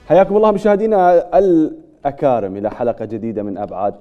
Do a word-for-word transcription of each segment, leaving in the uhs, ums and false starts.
حياكم الله مشاهدينا الأكارم إلى حلقة جديدة من أبعاد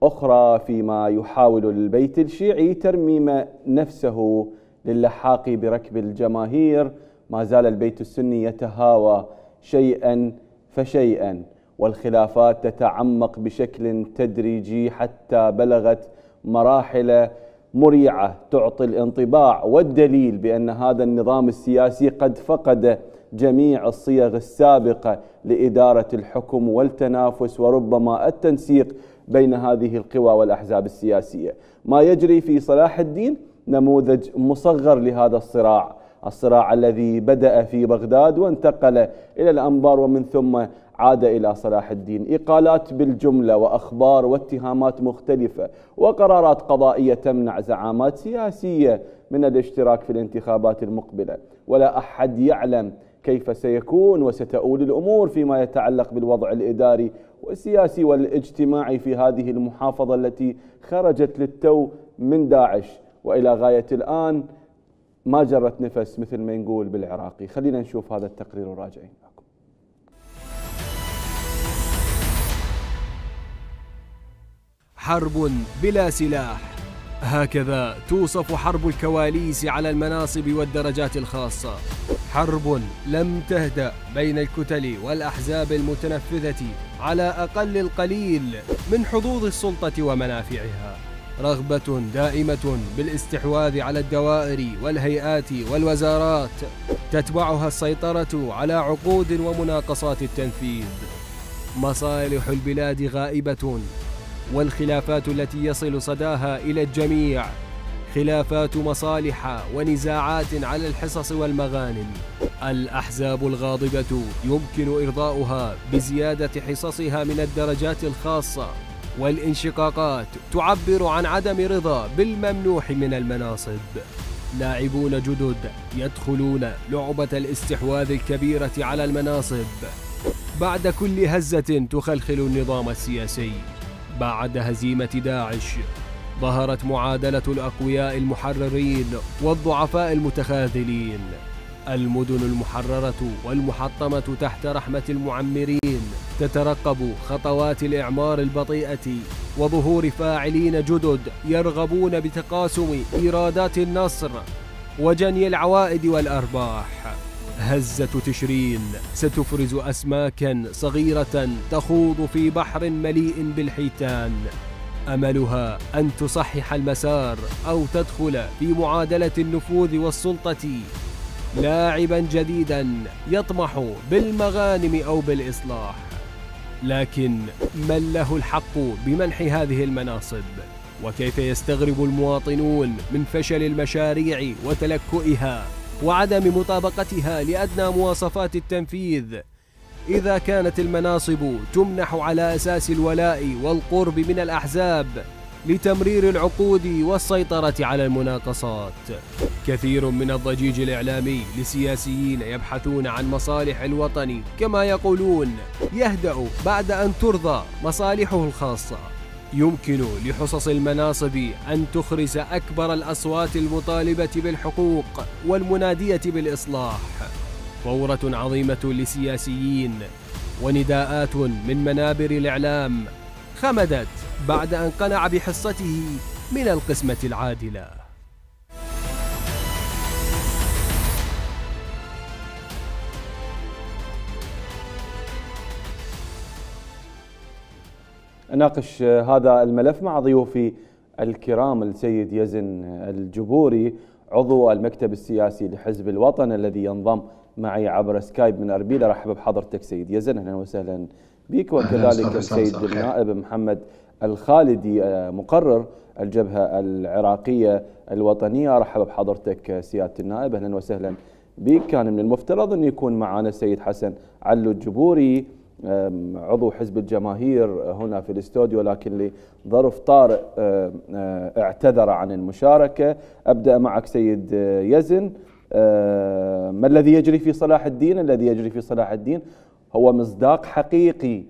أخرى فيما يحاول البيت الشيعي ترميم نفسه للحاق بركب الجماهير. ما زال البيت السني يتهاوى شيئا فشيئا، والخلافات تتعمق بشكل تدريجي حتى بلغت مراحل مريعة تعطي الانطباع والدليل بأن هذا النظام السياسي قد فقد جميع الصيغ السابقة لإدارة الحكم والتنافس وربما التنسيق بين هذه القوى والأحزاب السياسية. ما يجري في صلاح الدين نموذج مصغر لهذا الصراع، الصراع الذي بدأ في بغداد وانتقل إلى الأنبار ومن ثم عاد إلى صلاح الدين. إقالات بالجملة وأخبار واتهامات مختلفة وقرارات قضائية تمنع زعامات سياسية من الاشتراك في الانتخابات المقبلة، ولا أحد يعلم كيف سيكون وستؤول الأمور فيما يتعلق بالوضع الإداري والسياسي والاجتماعي في هذه المحافظة التي خرجت للتو من داعش وإلى غاية الآن ما جرت نفس مثل ما نقول بالعراقي. خلينا نشوف هذا التقرير وراجعين معكم. حرب بلا سلاح، هكذا توصف حرب الكواليس على المناصب والدرجات الخاصة. حرب لم تهدأ بين الكتل والأحزاب المتنفذة على أقل القليل من حظوظ السلطة ومنافعها، رغبة دائمة بالاستحواذ على الدوائر والهيئات والوزارات تتبعها السيطرة على عقود ومناقصات التنفيذ. مصالح البلاد غائبة، والخلافات التي يصل صداها إلى الجميع خلافات مصالح ونزاعات على الحصص والمغانم. الأحزاب الغاضبة يمكن إرضاؤها بزيادة حصصها من الدرجات الخاصة، والانشقاقات تعبر عن عدم رضا بالممنوح من المناصب. لاعبون جدد يدخلون لعبة الاستحواذ الكبيرة على المناصب بعد كل هزة تخلخل النظام السياسي. بعد هزيمة داعش ظهرت معادلة الأقوياء المحررين والضعفاء المتخاذلين. المدن المحررة والمحطمة تحت رحمة المعمرين تترقب خطوات الإعمار البطيئة وظهور فاعلين جدد يرغبون بتقاسم إيرادات النصر وجني العوائد والأرباح. هزة تشرين ستفرز أسماكا صغيرة تخوض في بحر مليء بالحيتان، أملها أن تصحح المسار أو تدخل في معادلة النفوذ والسلطة، لاعبا جديدا يطمح بالمغانم أو بالإصلاح. لكن من له الحق بمنح هذه المناصب؟ وكيف يستغرب المواطنون من فشل المشاريع وتلكؤها وعدم مطابقتها لأدنى مواصفات التنفيذ إذا كانت المناصب تمنح على أساس الولاء والقرب من الأحزاب لتمرير العقود والسيطرة على المناقصات؟ كثير من الضجيج الإعلامي لسياسيين يبحثون عن مصالح الوطن كما يقولون يهدأ بعد أن ترضى مصالحه الخاصة. يمكن لحصص المناصب أن تخرس أكبر الأصوات المطالبة بالحقوق والمنادية بالإصلاح. ثورة عظيمة لسياسيين ونداءات من منابر الإعلام خمدت بعد أن قنع بحصته من القسمة العادلة. أناقش هذا الملف مع ضيوفي الكرام السيد يزن الجبوري عضو المكتب السياسي لحزب الوطن الذي ينضم معي عبر سكايب من أربيل. رحب بحضرتك سيد يزن، أهلا وسهلا بك. وكذلك السيد النائب محمد الخالدي مقرر الجبهة العراقية الوطنية. رحب بحضرتك سيادة النائب، أهلا وسهلا بك. كان من المفترض أن يكون معنا السيد حسن علو الجبوري عضو حزب الجماهير هنا في الاستوديو، لكن لظرف طارئ اعتذر عن المشاركة. أبدأ معك سيد يزن، ما الذي يجري في صلاح الدين؟ الذي يجري في صلاح الدين هو مصداق حقيقي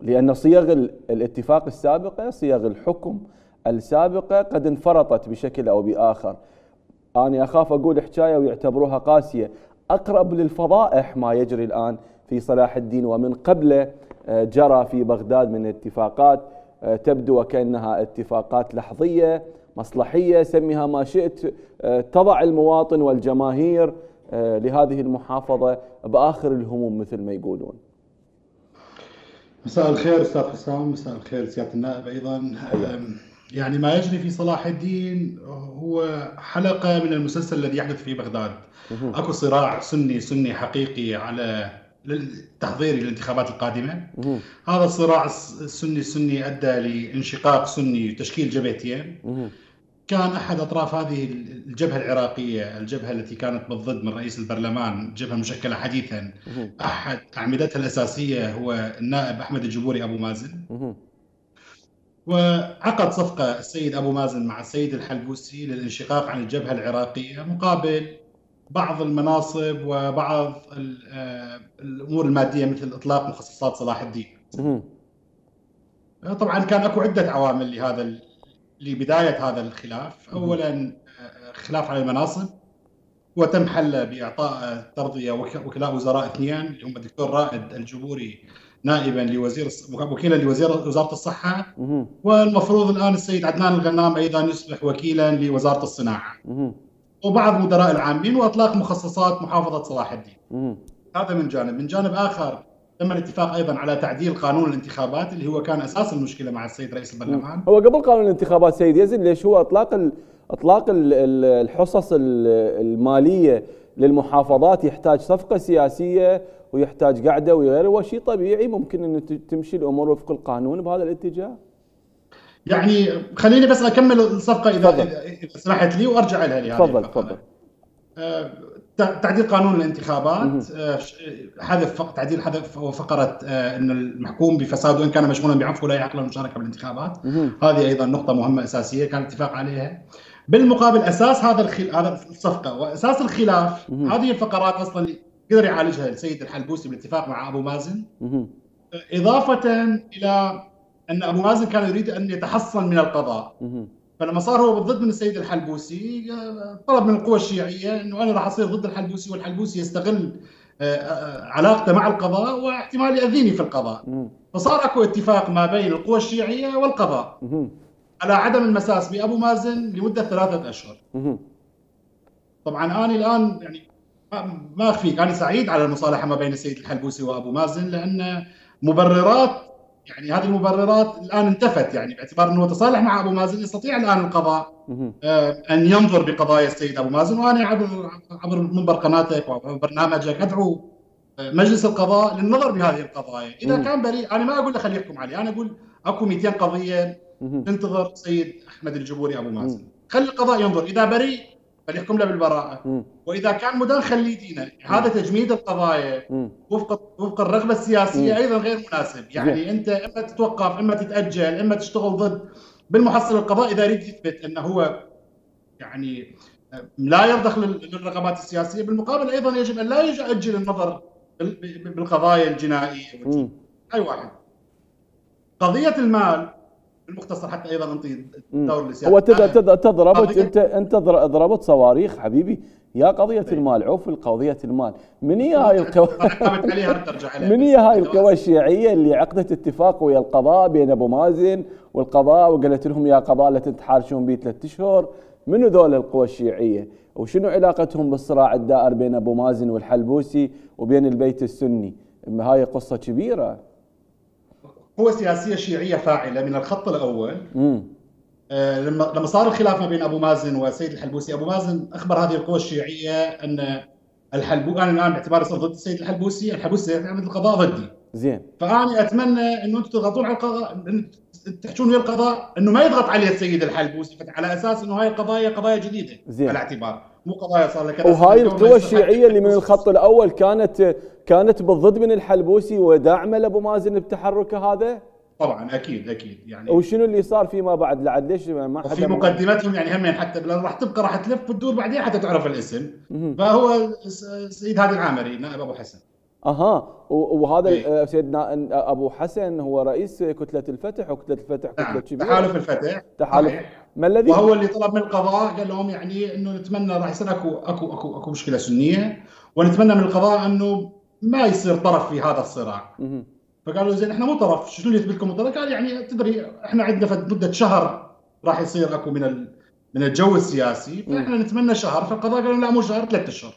لأن صيغ الاتفاق السابقة، صيغ الحكم السابقة قد انفرطت بشكل أو بآخر. أنا أخاف أقول حكاية ويعتبروها قاسية، أقرب للفضائح ما يجري الآن في صلاح الدين ومن قبله جرى في بغداد من اتفاقات تبدو وكأنها اتفاقات لحظية مصلحية، سميها ما شئت، تضع المواطن والجماهير لهذه المحافظة بآخر الهموم مثل ما يقولون. مساء الخير أستاذ حسام، مساء الخير سيادة النائب أيضا. يعني ما يجري في صلاح الدين هو حلقة من المسلسل الذي يحدث في بغداد. أكو صراع سني سني حقيقي على للتحضير للانتخابات القادمة. هذا الصراع السني السني أدى لانشقاق سني وتشكيل جبهتين. كان أحد أطراف هذه الجبهة العراقية، الجبهة التي كانت بالضد من رئيس البرلمان، جبهة مشكلة حديثا، أحد أعمدتها الأساسية هو النائب أحمد الجبوري أبو مازن. وعقد صفقة السيد أبو مازن مع السيد الحلبوسي للانشقاق عن الجبهة العراقية مقابل بعض المناصب وبعض الأمور المادية مثل إطلاق مخصصات صلاح الدين. طبعا كان أكو عدة عوامل لهذا لبداية هذا الخلاف. أولا خلاف على المناصب، وتم حله بإعطاء ترضية وكلاء وزراء اثنين اللي هم الدكتور رائد الجبوري نائبا لوزير وكيلا لوزير وزارة الصحة، والمفروض الآن السيد عدنان الغنام أيضا يصبح وكيلا لوزارة الصناعة، وبعض مدراء العامين، وإطلاق مخصصات محافظة صلاح الدين. هذا من جانب. من جانب آخر تم الاتفاق أيضا على تعديل قانون الانتخابات اللي هو كان أساس المشكلة مع السيد رئيس البرلمان. هو قبل قانون الانتخابات سيد يزن، ليش هو إطلاق ال إطلاق الحصص المالية للمحافظات يحتاج صفقة سياسية ويحتاج قعدة وغيره، وشيء طبيعي ممكن أن تمشي الأمور وفق القانون بهذا الاتجاه. يعني خليني بس أكمل الصفقة إذا إذا سمحت لي وأرجع لها لهذه. تفضل تفضل. أه تعديل قانون الانتخابات، أه حذف تعديل حذف فقرة أه أن المحكوم بفساد وإن كان مشمولا بعفو لا يعقل المشاركة بالانتخابات. هذه أيضا نقطة مهمة أساسية كان اتفاق عليها. بالمقابل أساس هذا الخل... هذا الصفقة وأساس الخلاف هذه الفقرات أصلا قدر يعالجها السيد الحلبوسي بالاتفاق مع أبو مازن، إضافة إلى أن أبو مازن كان يريد أن يتحصن من القضاء. فلما صار هو بالضد من السيد الحلبوسي طلب من القوى الشيعية أنه أنا راح أصير ضد الحلبوسي، والحلبوسي يستغل علاقته مع القضاء واحتمال يأذيني في القضاء. فصار أكو اتفاق ما بين القوى الشيعية والقضاء على عدم المساس بأبو مازن لمدة ثلاثة أشهر. طبعا أنا الآن يعني ما أخفيك أنا سعيد على المصالحة ما بين السيد الحلبوسي وأبو مازن، لأن مبررات يعني هذه المبررات الآن انتفت، يعني باعتبار أنه تصالح مع أبو مازن يستطيع الآن القضاء أن ينظر بقضايا السيد أبو مازن. وأنا عبر عبر منبر قناتك وعبر برنامجك أدعو مجلس القضاء للنظر بهذه القضايا. إذا كان بريء أنا ما أقول له خليه يحكم عليه، أنا أقول أكو مئتين قضية تنتظر سيد أحمد الجبوري أبو مازن، خلي القضاء ينظر، إذا بريء فليحكم له بالبراءة، وإذا كان مدان خليه يدينه. هذا تجميد القضايا وفق وفق الرغبة السياسية أيضا غير مناسب. يعني أنت إما تتوقف، إما تتأجل، إما تشتغل ضد. بالمحصل القضاء إذا يريد يثبت أنه هو يعني لا يرضخ للرغبات السياسية، بالمقابل أيضا يجب أن لا يؤجل النظر بالقضايا الجنائية. أي واحد قضية المال المختصر حتى ايضا انطي الدور للسياسه. هو تضربت انت انت ضربت صواريخ حبيبي يا قضيه المال، عوف القضيه المال. من هي هاي القوى من هي هاي القوى الشيعيه اللي عقدت اتفاق ويا القضاء بين ابو مازن والقضاء وقالت لهم يا قضاء لا تتحارشون بي ثلاث اشهر؟ منو ذول القوى الشيعيه؟ وشنو علاقتهم بالصراع الدائر بين ابو مازن والحلبوسي وبين البيت السني؟ هاي قصه كبيره. قوة سياسية شيعية فاعلة من الخط الأول. آه لما لما صار الخلاف ما بين أبو مازن والسيد الحلبوسي، أبو مازن أخبر هذه القوى الشيعية أن الحلبو أنا الآن باعتباري صرت ضد السيد الحلبوسي، الحلبوسي يعمل القضاء ضدي. زين. فأنا أتمنى إنه أنتم تضغطون على القضاء، تحشون ويا القضاء إنه ما يضغط عليه السيد الحلبوسي، على أساس إنه هاي القضايا قضايا جديدة. زين. على اعتبار مو قضايا صار لها كذا. وهاي القوى الشيعية اللي من الخط الأول كانت كانت بالضد من الحلبوسي وداعمة لأبو مازن بتحركه هذا؟ طبعا اكيد اكيد. يعني وشنو اللي صار فيما بعد لعد ليش ما حدا في مقدمتهم يعني هم حتى راح تبقى راح تلف وتدور بعدين حتى تعرف الاسم. فهو السيد هادي العامري نائب ابو حسن. اها وهذا إيه؟ سيدنا ابو حسن هو رئيس كتله الفتح، وكتله الفتح كتله كبيره. تحالف الفتح. تحالف. ما الذي وهو اللي طلب من القضاء قال لهم يعني انه نتمنى راح يصير اكو اكو اكو اكو مشكله سنيه، ونتمنى من القضاء انه ما يصير طرف في هذا الصراع. فقالوا زين احنا مو طرف، شنو اللي يثبت لكم طرف؟ قال يعني تدري احنا عندنا مده شهر راح يصير اكو من من الجو السياسي، فاحنا نتمنى شهر. فالقضاء قالوا لا مو شهر، ثلاث اشهر.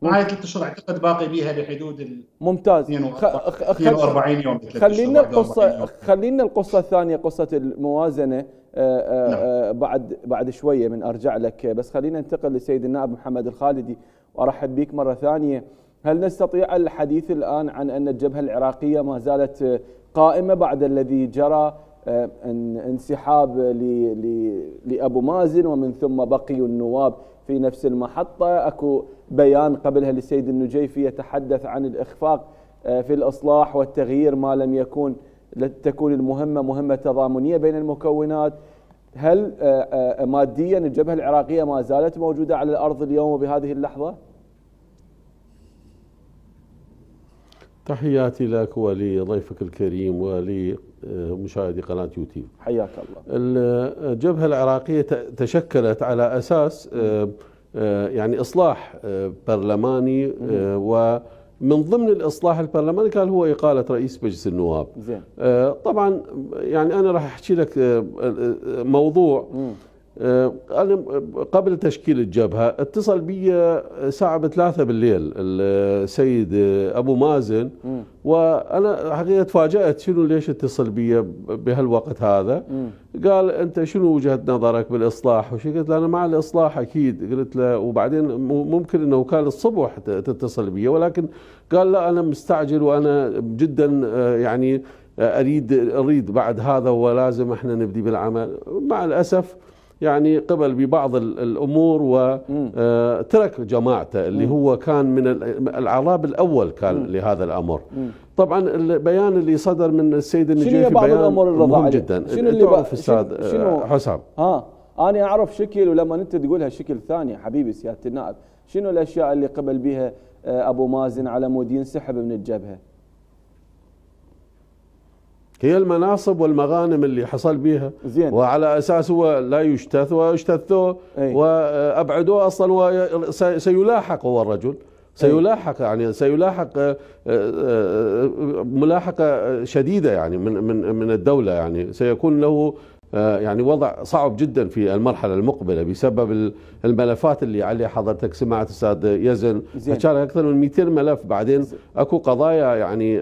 معي ثلاث اشهر اعتقد باقي بيها بحدود ال ممتاز اثنين وأربعين يوم. خلينا القصه خلينا القصه الثانيه، قصه الموازنه آآ آآ بعد بعد شويه من ارجع لك، بس خلينا ننتقل للسيد النائب محمد الخالدي وارحب بك مره ثانيه. هل نستطيع الحديث الان عن ان الجبهه العراقيه ما زالت قائمه بعد الذي جرى انسحاب لابو مازن ومن ثم بقي النواب في نفس المحطه؟ اكو بيان قبلها للسيد النجيفي يتحدث عن الاخفاق في الاصلاح والتغيير ما لم يكن تكون المهمه مهمه تضامنيه بين المكونات. هل ماديا الجبهه العراقيه ما زالت موجوده على الارض اليوم وبهذه اللحظه؟ تحياتي لك ولضيفك الكريم ولمشاهدي قناة يوتيوب. حياك الله. الجبهة العراقية تشكلت على أساس يعني إصلاح برلماني، ومن ضمن الإصلاح البرلماني كان هو إقالة رئيس مجلس النواب. زين. طبعا يعني أنا راح أحكي لك موضوع. م. أنا قبل تشكيل الجبهة اتصل بي الساعة بثلاثة بالليل السيد أبو مازن، م. وأنا حقيقة تفاجأت شنو ليش اتصل بي بهالوقت هذا. م. قال أنت شنو وجهة نظرك بالإصلاح وشي؟ قلت له أنا مع الإصلاح أكيد. قلت له وبعدين ممكن أنه كان الصبح تتصل بي، ولكن قال لا أنا مستعجل وأنا جدا يعني أريد أريد بعد هذا ولازم احنا نبدي بالعمل. مع الأسف يعني قبل ببعض الأمور وترك جماعته اللي هو كان من العراب الأول كان م. لهذا الأمر. م. طبعا البيان اللي صدر من السيد النجيفي بيان مهم جدا. شنو اللي تعرف أستاذ حسام؟ ها أنا أعرف شكل، ولما أنت تقولها شكل ثاني حبيبي سيادة النائب، شنو الأشياء اللي قبل بها أبو مازن على مود ينسحب من الجبهة؟ هي المناصب والمغانم اللي حصل بها. زين. وعلى اساس هو لا يجتث واجتثوه وابعدوه اصلا، وسيلاحق هو الرجل سيلاحق يعني سيلاحق ملاحقه شديده يعني من من من الدوله، يعني سيكون له يعني وضع صعب جدا في المرحله المقبله بسبب الملفات اللي عليه. حضرتك سمعت استاذ يزن كان اكثر من مئتين ملف، بعدين اكو قضايا يعني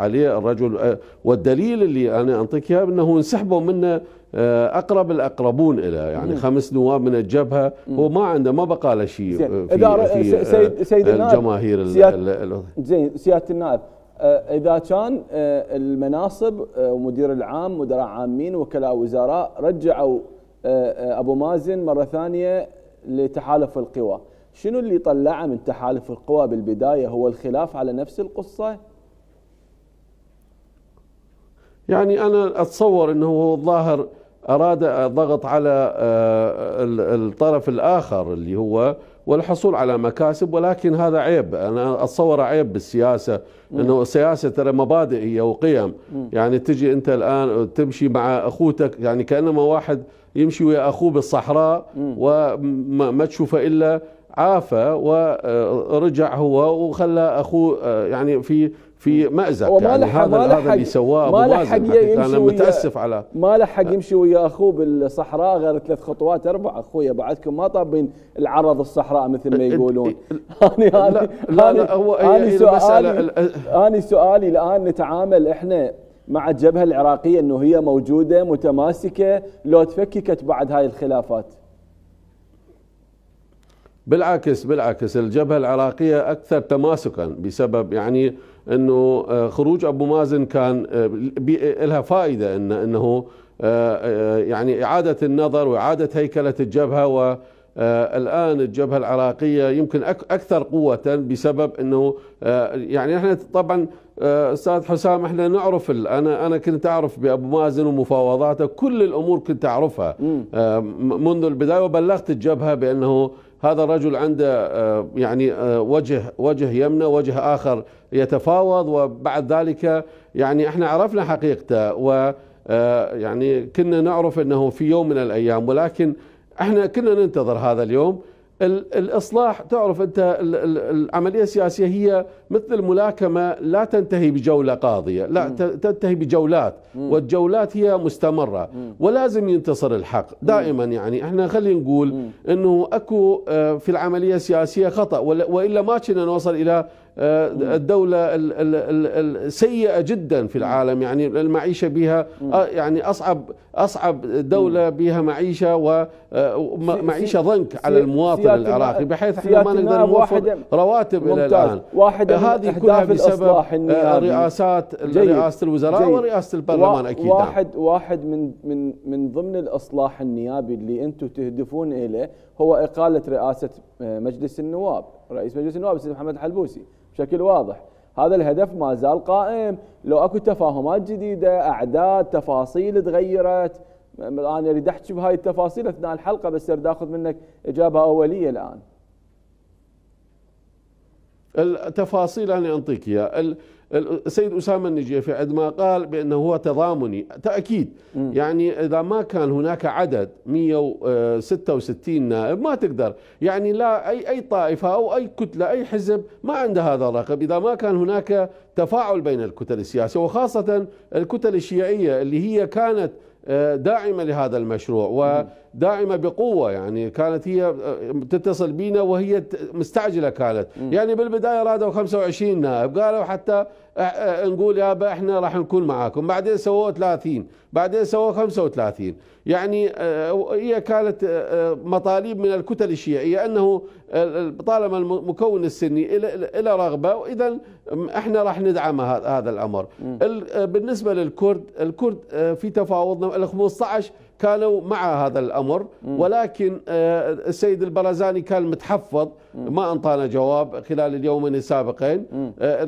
عليه الرجل. والدليل اللي انا انطيك اياه انه انسحبوا منه اقرب الاقربون الى يعني خمس نواب من الجبهه، هو ما عنده ما بقى له شيء في, في سيد سيد الجماهير. زين سياده النائب، إذا كان المناصب ومدير العام مدراء عامين وكلاء وزراء رجعوا أبو مازن مرة ثانية لتحالف القوى، شنو اللي طلعه من تحالف القوى بالبداية؟ هو الخلاف على نفس القصة؟ يعني أنا أتصور أنه هو الظاهر أراد الضغط على الطرف الآخر اللي هو والحصول على مكاسب، ولكن هذا عيب. أنا أتصور عيب بالسياسة، أنه السياسة ترى مبادئ وقيم. يعني تجي أنت الآن تمشي مع أخوتك، يعني كأنما واحد يمشي ويا أخوه بالصحراء وما تشوفه إلا عافى ورجع هو وخلى أخوه يعني في في مأزق. يعني هذا هذا اللي سواه أبو مازن. أنا متأسف على ما لحق يمشي ويا أخوه بالصحراء غير ثلاث خطوات أربع. أخويا بعدكم ما طابين العرض الصحراء مثل ما يقولون. أنا لا لا, لا هو أنا سؤالي أنا سؤالي الآن نتعامل إحنا مع الجبهة العراقية أنه هي موجودة متماسكة لو تفككت بعد هاي الخلافات؟ بالعكس بالعكس الجبهة العراقية أكثر تماسكا بسبب يعني أنه خروج أبو مازن كان لها فائدة، إن أنه يعني إعادة النظر وإعادة هيكلة الجبهة. والآن الجبهة العراقية يمكن أكثر قوة بسبب أنه يعني احنا طبعا أستاذ حسام احنا نعرف، أنا أنا كنت أعرف بأبو مازن ومفاوضاته، كل الأمور كنت أعرفها منذ البداية، وبلغت الجبهة بأنه هذا الرجل عنده يعني وجه وجه يمنى وجه آخر يتفاوض، وبعد ذلك يعني احنا عرفنا حقيقته، ويعني كنا نعرف أنه في يوم من الأيام، ولكن احنا كنا ننتظر هذا اليوم. الإصلاح تعرف أنت العملية السياسية هي مثل الملاكمة، لا تنتهي بجولة قاضية، لا تنتهي بجولات، والجولات هي مستمرة ولازم ينتصر الحق دائما. يعني احنا خلينا نقول أنه أكو في العملية السياسية خطأ، وإلا ما كنا نوصل إلى الدولة السيئة جدا في العالم. يعني المعيشة بها يعني أصعب أصعب دولة بها معيشة، ومعيشة ضنك على المواطن العراقي، بحيث احنا ما نقدر نوفر رواتب إلى الآن. هذه كلها بسبب رئاسات رئاسة الوزراء ورئاسة البرلمان أكيد. واحد واحد من من من ضمن الإصلاح النيابي اللي أنتم تهدفون إليه هو إقالة رئاسة مجلس النواب، رئيس مجلس النواب السيد محمد الحلبوسي بشكل واضح. هذا الهدف ما زال قائم، لو اكو تفاهمات جديده، اعداد، تفاصيل تغيرت. انا اريد احكي بهاي التفاصيل اثناء الحلقه، بس اريد اخذ منك اجابه اوليه الان. التفاصيل انا انطيك اياها. السيد أسامة النجيفي عندما قال بأنه هو تضامني، تأكيد يعني إذا ما كان هناك عدد مئة وستة وستين نائب ما تقدر، يعني لا أي أي طائفة أو أي كتلة أي حزب ما عنده هذا الرقم إذا ما كان هناك تفاعل بين الكتل السياسية، وخاصة الكتل الشيعية اللي هي كانت داعمة لهذا المشروع وداعمة بقوة. يعني كانت هي تتصل بينا وهي مستعجلة كانت، يعني بالبداية رادوا خمسة وعشرين نائب، قالوا حتى نقول يابا احنا راح نكون معاكم، بعدين سووا ثلاثين، بعدين سووا خمسة وثلاثين. يعني هي كانت مطالب من الكتل الشيعية أنه طالما المكون السني إلى رغبة، وإذا احنا راح ندعم هذا الأمر. بالنسبة للكرد، الكرد في تفاوضنا ال خمسة عشر كانوا مع هذا الأمر، ولكن السيد البرزاني كان متحفظ، ما انطانا جواب خلال اليومين السابقين،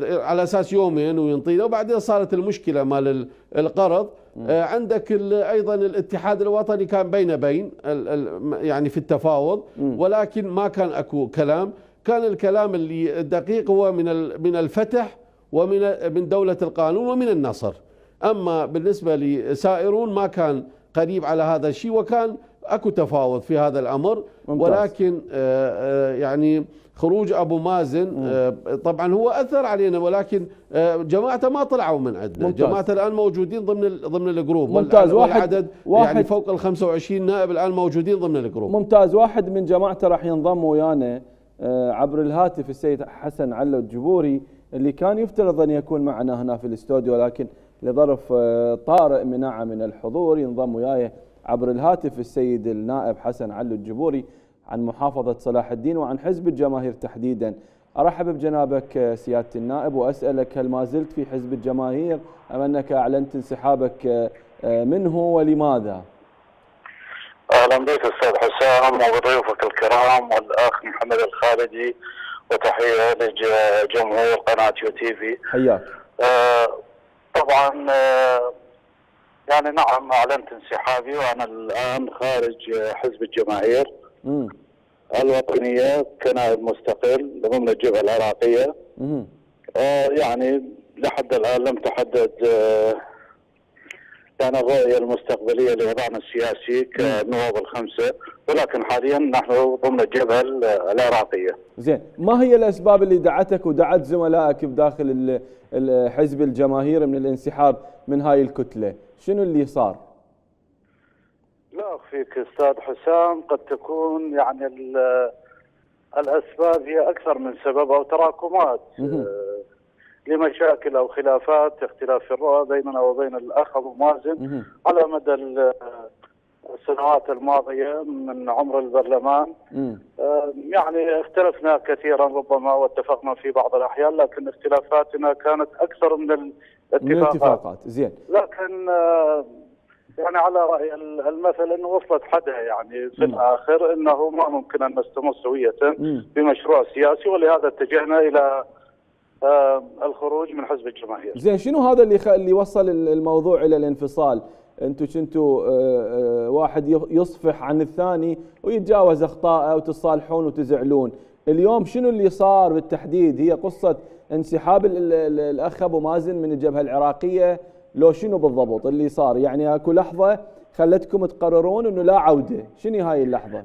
على أساس يومين وينطينا، وبعدين صارت المشكلة مال القرض. عندك أيضا الاتحاد الوطني كان بين بين يعني في التفاوض، ولكن ما كان أكو كلام. كان الكلام اللي الدقيق هو من من الفتح ومن من دولة القانون ومن النصر. أما بالنسبة لسائرون ما كان قريب على هذا الشيء، وكان اكو تفاوض في هذا الامر. ممتاز. ولكن يعني خروج ابو مازن طبعا هو اثر علينا، ولكن جماعته ما طلعوا من عندنا. جماعته الان موجودين ضمن ضمن الجروب. ممتاز. واحد عدد واحد يعني فوق ال خمسة وعشرين نائب الان موجودين ضمن الجروب. ممتاز. واحد من جماعته راح ينضم ويانا عبر الهاتف، السيد حسن علو الجبوري، اللي كان يفترض ان يكون معنا هنا في الاستوديو، لكن لظرف طارئ منع من الحضور. ينضم وياي عبر الهاتف السيد النائب حسن علو الجبوري عن محافظة صلاح الدين وعن حزب الجماهير تحديدا. أرحب بجنابك سيادة النائب وأسألك، هل ما زلت في حزب الجماهير أم أنك أعلنت انسحابك منه ولماذا؟ أهلا بك أستاذ حسام وبضيوفك الكرام والأخ محمد الخالدي، وتحية لجمهور قناة يو تي في. حياك. أه طبعا أه يعني نعم أعلنت انسحابي، وأنا الآن خارج حزب الجماهير م. الوطنية كنائب مستقل ضمن الجبهة العراقية. آه يعني لحد الآن لم تحدد آه يعني الرؤية المستقبلية لوضعنا السياسي كنواب الخمسة، ولكن حاليا نحن ضمن الجبهة العراقية. زين، ما هي الأسباب اللي دعتك ودعت زملائك بداخل حزب الجماهير من الانسحاب من هاي الكتلة؟ شنو اللي صار؟ لا أخفيك أستاذ حسام، قد تكون يعني الأسباب هي أكثر من سبب أو تراكمات لمشاكل أو خلافات، اختلاف في الرؤى بيننا وبين الأخ أبو مازن على مدى السنوات الماضية من عمر البرلمان. يعني اختلفنا كثيرا ربما واتفقنا في بعض الأحيان، لكن اختلافاتنا كانت أكثر من الاتفاقات. من الاتفاقات. زين. لكن يعني على رأي المثل أنه وصلت حدها، يعني في م. الآخر أنه ما ممكن أن نستمر سوية بمشروع سياسي، ولهذا اتجهنا إلى آه الخروج من حزب الجماهير. زين، شنو هذا اللي خ... اللي وصل الموضوع إلى الانفصال؟ أنتم كنتوا آه واحد يصفح عن الثاني ويتجاوز أخطاءه وتصالحون وتزعلون. اليوم شنو اللي صار بالتحديد؟ هي قصة انسحاب ال ال الأخ أبو مازن من الجبهة العراقية، لو شنو بالضبط اللي صار؟ يعني اكو لحظة خلتكم تقررون انه لا عودة، شنو هاي اللحظة؟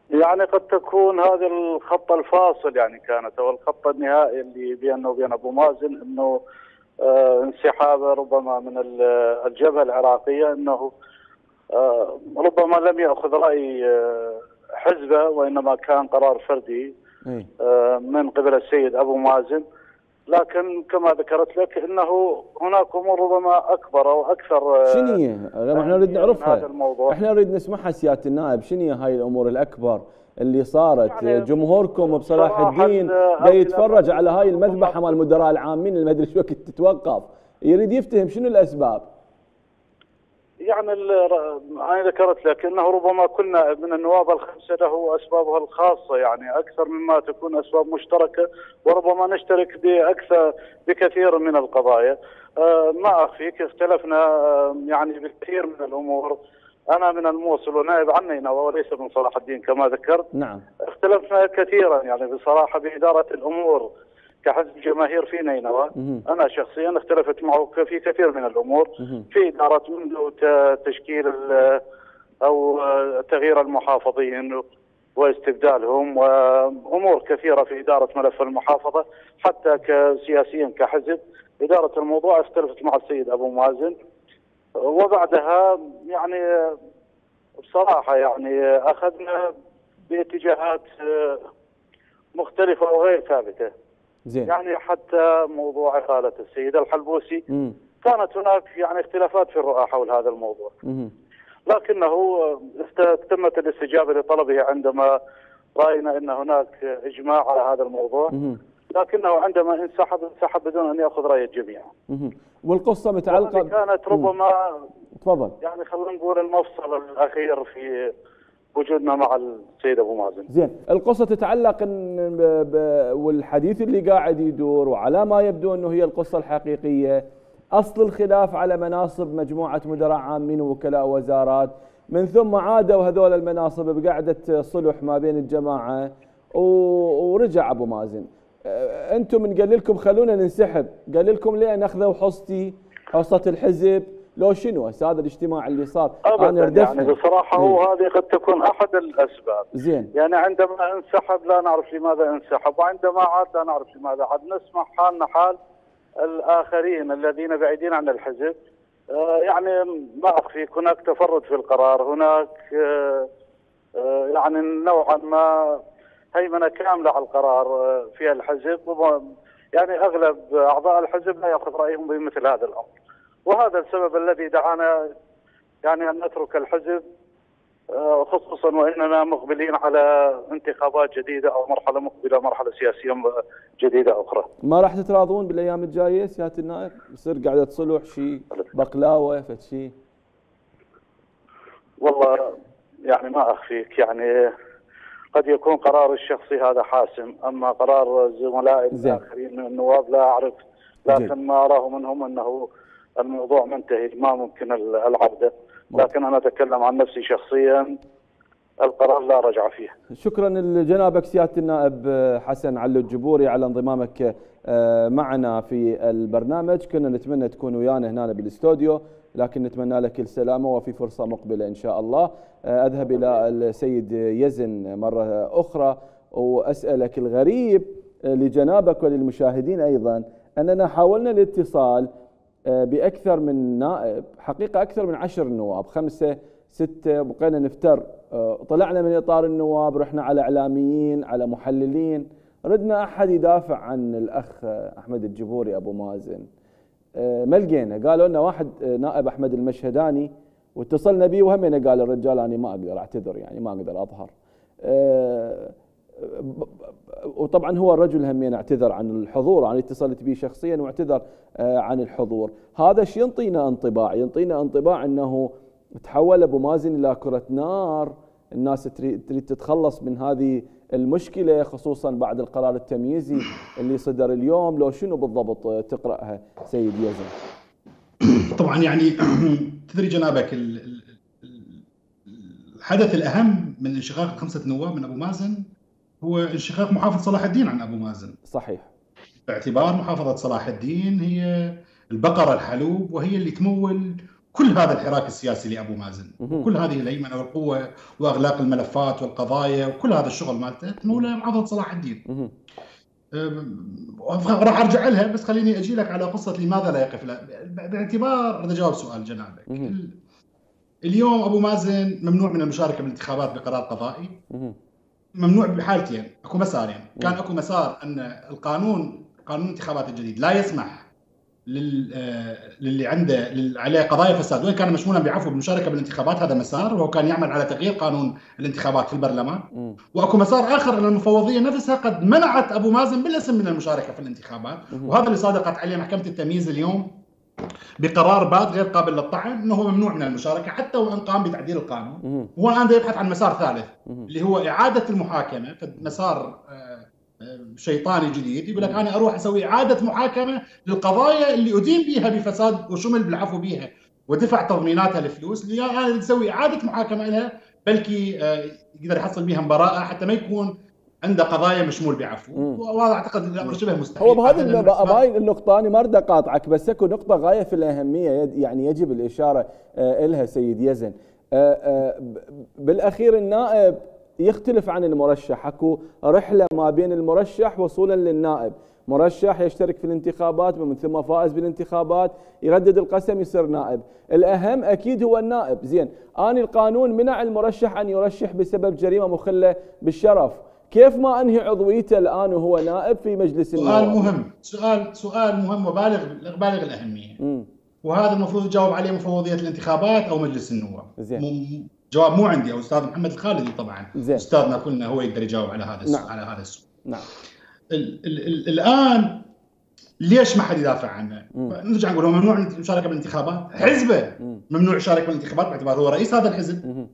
يعني قد تكون هذا الخط الفاصل يعني كانت، او الخط النهائي اللي بينه وبين ابو مازن، انه آه انسحابه ربما من الجبهه العراقيه، انه آه ربما لم ياخذ راي آه حزبه، وانما كان قرار فردي آه من قبل السيد ابو مازن. لكن كما ذكرت لك انه هناك امور ربما اكبر او اكثر. شنو هي؟ احنا نريد نعرفها، احنا نريد نسمعها سياده النائب. شنو هي هاي الامور الاكبر اللي صارت؟ يعني جمهوركم بصلاح الدين دا يتفرج على هاي المذبحه مال المدراء العامين اللي ما ادري شو وقت تتوقف، يريد يفتهم شنو الاسباب. يعني انا ذكرت لك انه ربما كل نائب من النواب الخمسه له اسبابها الخاصه، يعني اكثر مما تكون اسباب مشتركه، وربما نشترك باكثر بكثير من القضايا. أه ما اخفيك اختلفنا أه يعني بالكثير من الامور. انا من الموصل ونائب عن نينوى وليس من صلاح الدين كما ذكرت. نعم. اختلفنا كثيرا يعني بصراحه باداره الامور كحزب جماهير في نينوى. انا شخصيا اختلفت معه في كثير من الامور في اداره، منذ تشكيل او تغيير المحافظين واستبدالهم، وامور كثيره في اداره ملف المحافظه، حتى كسياسيا كحزب اداره الموضوع اختلفت مع السيد ابو مازن. وبعدها يعني بصراحه يعني اخذنا باتجاهات مختلفه وغير ثابته. زين. يعني حتى موضوع إقالة السيد الحلبوسي مم. كانت هناك يعني اختلافات في الرؤى حول هذا الموضوع. مم. لكنه تمت الاستجابة لطلبه عندما رأينا أن هناك إجماع على هذا الموضوع. مم. لكنه عندما انسحب انسحب بدون أن يأخذ رأي الجميع. مم. والقصة متعلقة كانت ربما تفضل يعني خلينا نقول المفصل الأخير في وجودنا مع السيد ابو مازن. زين، القصه تتعلق إن ب... والحديث اللي قاعد يدور، وعلى ما يبدو انه هي القصه الحقيقيه، اصل الخلاف على مناصب مجموعه مدراء عامين ووكلاء وزارات، من ثم عادوا هذول المناصب بقعده صلح ما بين الجماعه و... ورجع ابو مازن. انتم من قال لكم خلونا ننسحب، قال لكم ليه ناخذوا حصتي حصه الحزب لو شنو هذا الاجتماع اللي صار؟ أنا يعني بصراحة هو هذه قد تكون أحد الأسباب. زين. يعني عندما انسحب لا نعرف لماذا انسحب، وعندما عاد لا نعرف لماذا عاد. نسمع حالنا حال الآخرين الذين بعيدين عن الحزب. آه يعني ما أخفيك هناك تفرد في القرار، هناك آه آه يعني نوعا ما هيمنة كاملة على القرار آه في الحزب، يعني أغلب أعضاء الحزب لا يأخذ رأيهم بمثل هذا الأمر. وهذا السبب الذي دعانا يعني أن نترك الحزب، خصوصا وإننا مقبلين على انتخابات جديدة أو مرحلة مقبلة، مرحلة سياسية جديدة أخرى. ما راح تتراضون بالأيام الجاية سيادة النائب؟ يصير قاعدة صلح شيء بقلاوة فد شيء؟ والله يعني ما أخفيك يعني قد يكون قرار الشخصي هذا حاسم، أما قرار زملائي الآخرين من النواب لا أعرف، لكن جي. ما أراه منهم أنه الموضوع منتهي ما ممكن العودة. لكن أنا أتكلم عن نفسي شخصيا القرار لا رجع فيه. شكرا لجنابك سيادة النائب حسن علو الجبوري على انضمامك معنا في البرنامج. كنا نتمنى تكون ويانا هنا بالاستوديو، لكن نتمنى لك السلامة وفي فرصة مقبلة إن شاء الله. أذهب إلى السيد يزن مرة أخرى وأسألك الغريب لجنابك وللمشاهدين أيضا أننا حاولنا الاتصال بأكثر من نائب، حقيقة أكثر من عشر نواب، خمسة ستة، بقينا نفتر، طلعنا من إطار النواب، رحنا على إعلاميين على محللين، ردنا أحد يدافع عن الأخ أحمد الجبوري أبو مازن، ما لقينا. قالوا لنا واحد نائب أحمد المشهداني واتصلنا به وهمنا قال الرجال أنا ما أقدر أعتذر، يعني ما أقدر أظهر. وطبعا هو الرجل همين اعتذر عن الحضور، انا اتصلت به شخصيا واعتذر عن الحضور. هذا شيء ينطينا انطباع، ينطينا انطباع انه تحول ابو مازن الى كرة نار، الناس تريد تتخلص من هذه المشكلة، خصوصا بعد القرار التمييزي اللي صدر اليوم. لو شنو بالضبط تقرأها سيد يزن؟ طبعا يعني تدري جنابك الحدث الأهم من انشقاق خمسة نواب من أبو مازن هو انشقاق محافظة صلاح الدين عن أبو مازن. صحيح. باعتبار محافظة صلاح الدين هي البقرة الحلوب، وهي اللي تمول كل هذا الحراك السياسي لابو مازن، كل هذه الهيمنه والقوه واغلاق الملفات والقضايا وكل هذا الشغل مالته انه لمحافظه صلاح الدين. راح ارجع لها، بس خليني اجي لك على قصه لماذا لا يقف لا. باعتبار بدي اجاوب سؤال جنابك. اليوم ابو مازن ممنوع من المشاركه بالانتخابات بقرار قضائي. ممنوع بحالتين، اكو مسارين. كان اكو مسار ان القانون قانون الانتخابات الجديد لا يسمح لل للي عنده عليه قضايا فساد وان كان مشمولا بعفو بالمشاركه بالانتخابات، هذا مسار وهو كان يعمل على تغيير قانون الانتخابات في البرلمان. م. واكو مسار اخر ان المفوضيه نفسها قد منعت ابو مازن بالاسم من المشاركه في الانتخابات، م. وهذا اللي صادقت عليه محكمه التمييز اليوم بقرار بات غير قابل للطعن انه هو ممنوع من المشاركه حتى وان قام بتعديل القانون. هو الان يبحث عن مسار ثالث اللي هو اعاده المحاكمه، مسار شيطاني جديد يقول لك انا اروح اسوي اعاده محاكمه للقضايا اللي ادين بها بفساد وشمل بالعفو بها ودفع تضميناتها الفلوس، اللي انا اسوي اعاده محاكمه لها بلكي يقدر يحصل بها براءه حتى ما يكون عنده قضايا مشمول بعفو. وهذا اعتقد الامر شبه مستحيل. هو بهذه هاي النقطه انا ما اريد اقاطعك، بس اكو نقطه غايه في الاهميه يعني يجب الاشاره لها سيد يزن. بالاخير النائب يختلف عن المرشح، اكو رحله ما بين المرشح وصولا للنائب. مرشح يشترك في الانتخابات ومن ثم فائز بالانتخابات يردد القسم يصير نائب. الاهم اكيد هو النائب. زين، اني القانون منع المرشح ان يرشح بسبب جريمه مخله بالشرف، كيف ما انهي عضويته الان وهو نائب في مجلس النواب؟ سؤال مهم، سؤال سؤال مهم وبالغ بالغ الاهميه. م. وهذا المفروض يجاوب عليه مفوضيه الانتخابات او مجلس النواب. زين. جواب مو عندي او استاذ محمد الخالدي طبعا. زين. استاذنا كلنا هو يقدر يجاوب على هذا السؤال. نعم. على هذا السؤال. نعم. ال ال ال الان ليش ما حد يدافع عنه؟ نرجع نقول هو ممنوع المشاركه بالانتخابات، حزبه ممنوع يشارك بالانتخابات باعتباره هو رئيس هذا الحزب.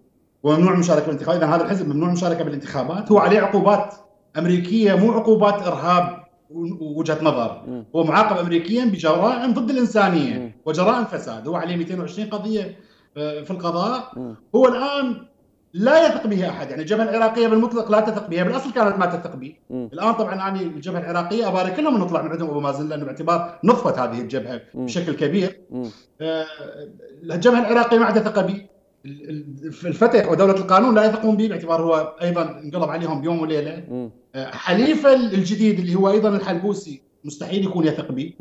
وممنوع المشاركه بالانتخابات، اذا هذا الحزب ممنوع المشاركه بالانتخابات، هو عليه عقوبات امريكيه مو عقوبات ارهاب ووجهه نظر. م. هو معاقب امريكيا بجرائم ضد الانسانيه م. وجرائم فساد، هو عليه مئتين وعشرين قضيه في القضاء. م. هو الان لا يثق به احد، يعني الجبهه العراقيه بالمطلق لا تثق به، بالاصل كانت ما تثق به. م. الان طبعا انا الجبهه العراقيه ابارك لهم نطلع من عندهم ابو مازن، لانه باعتبار نطفت هذه الجبهه م. بشكل كبير. آه الجبهه العراقيه ما عندها ثقه به، الفتح ودوله القانون لا يثقون به باعتبار هو ايضا انقلب عليهم بيوم وليله. م. حليفه الجديد اللي هو ايضا الحلبوسي مستحيل يكون يثق به،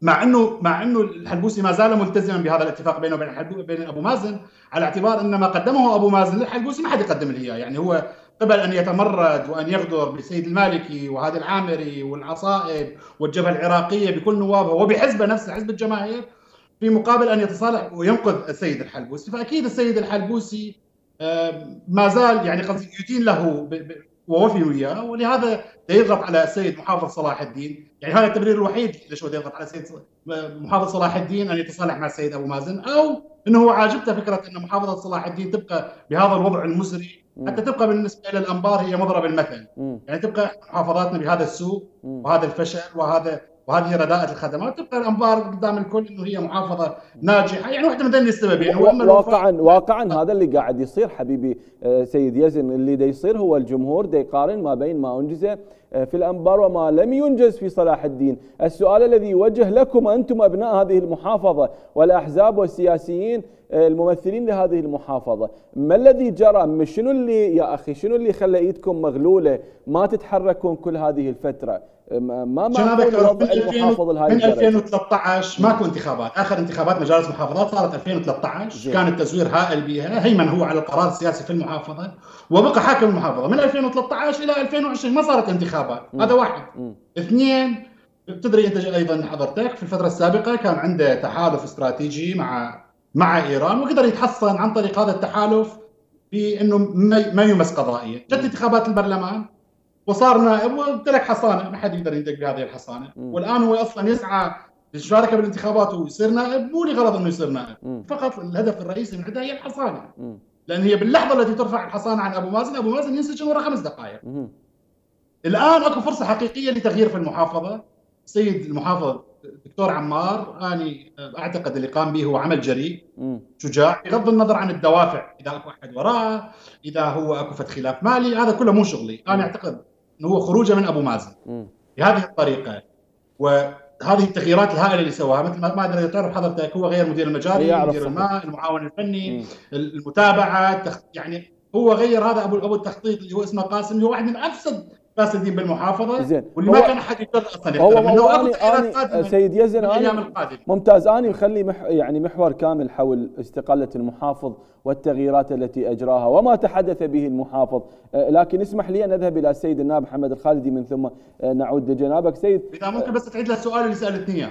مع انه مع انه الحلبوسي ما زال ملتزما بهذا الاتفاق بينه وبين بين ابو مازن، على اعتبار ان ما قدمه ابو مازن للحلبوسي ما حد يقدم له اياه. يعني هو قبل ان يتمرد وان يغدر بالسيد المالكي وهادي العامري والعصائب والجبهه العراقيه بكل نوابها وبحزبه نفسه حزب الجماهير، في مقابل ان يتصالح وينقذ السيد الحلبوسي. فاكيد السيد الحلبوسي ما زال يعني قد يدين له ووفي وياه، ولهذا يضغط على السيد محافظ صلاح الدين. يعني هذا التبرير الوحيد ليش هو يضغط على السيد محافظ صلاح الدين ان يتصالح مع السيد ابو مازن، او انه هو عاجبته فكره ان محافظه صلاح الدين تبقى بهذا الوضع المزري، حتى تبقى بالنسبه الى الانبار هي مضرب المثل. يعني تبقى محافظاتنا بهذا السوء وهذا الفشل وهذا وهذه رداءة الخدمات، تبقى الانبار قدام الكل انه هي محافظه ناجحه. يعني واحده من ذني السببين واقعا واقعا هذا اللي قاعد يصير حبيبي سيد يزن. اللي دا يصير هو الجمهور دا يقارن ما بين ما انجز في الانبار وما لم ينجز في صلاح الدين. السؤال الذي يوجه لكم انتم ابناء هذه المحافظه والاحزاب والسياسيين الممثلين لهذه المحافظه، ما الذي جرى؟ شنو اللي يا اخي شنو اللي خلى ايدكم مغلوله ما تتحركون كل هذه الفتره؟ ما ما وضع المحافظ الهاي من ألفين وثلاثة عشر ماكو انتخابات. اخر انتخابات مجالس محافظات صارت ألفين وثلاثة عشر. جي. كان التزوير هائل بها، هيمن هو على القرار السياسي في المحافظه وبقى حاكم المحافظه من ألفين وثلاثة عشر الى ألفين وعشرين ما صارت انتخابات. م. هذا واحد. م. اثنين، تدري انت ايضا حضرتك في الفتره السابقه كان عنده تحالف استراتيجي مع مع ايران، وقدر يتحصن عن طريق هذا التحالف بانه ما يمس قضائيا. جت انتخابات البرلمان وصار نائب وامتلك حصانه، ما حد يقدر يدق بهذه الحصانه. م. والان هو اصلا يسعى للمشاركه بالانتخابات ويصير نائب مو لغرض انه يصير نائب، م. فقط الهدف الرئيسي من عندها هي الحصانه. م. لان هي باللحظه التي ترفع الحصانه عن ابو مازن، ابو مازن ينسجن ورا خمس دقائق. م. الان اكو فرصه حقيقيه لتغيير في المحافظه. السيد المحافظ دكتور عمار اني اعتقد اللي قام به هو عمل جريء شجاع، بغض النظر عن الدوافع، اذا اكو احد وراه، اذا هو اكو فد خلاف مالي، هذا كله مو شغلي. انا اعتقد انه هو خروجه من ابو مازن بهذه الطريقه و هذه التغييرات الهائله اللي سواها، مثل ما ادري تعرف حضرتك، هو غير مدير المجاري، مدير الماء، المعاون الفني، م. المتابعه، يعني هو غير هذا ابو ابو التخطيط اللي هو اسمه قاسم، اللي هو واحد من افسد فاسدين بالمحافظه، زين. واللي ما كان احد يقدر اصلا هو هو أنا سيد يزن أنا ممتاز. اني مخلي مح يعني محور كامل حول استقاله المحافظ والتغييرات التي اجراها وما تحدث به المحافظ، لكن اسمح لي ان اذهب الى السيد النائب محمد الخالدي من ثم نعود لجنابك. سيد اذا ممكن بس تعيد له السؤال اللي سالتني اياه.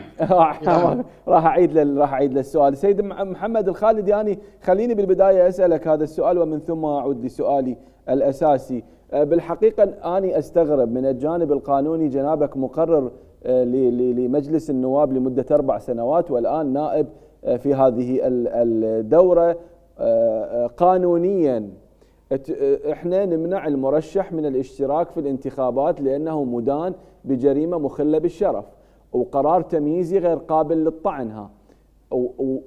راح اعيد له راح اعيد له السؤال. سيد محمد الخالدي، يعني خليني بالبدايه اسالك هذا السؤال ومن ثم اعود لسؤالي الاساسي. بالحقيقه اني استغرب من الجانب القانوني، جنابك مقرر لمجلس النواب لمده اربع سنوات والان نائب في هذه الدوره. قانونيا احنا نمنع المرشح من الاشتراك في الانتخابات لانه مدان بجريمه مخله بالشرف وقرار تمييزي غير قابل للطعنها،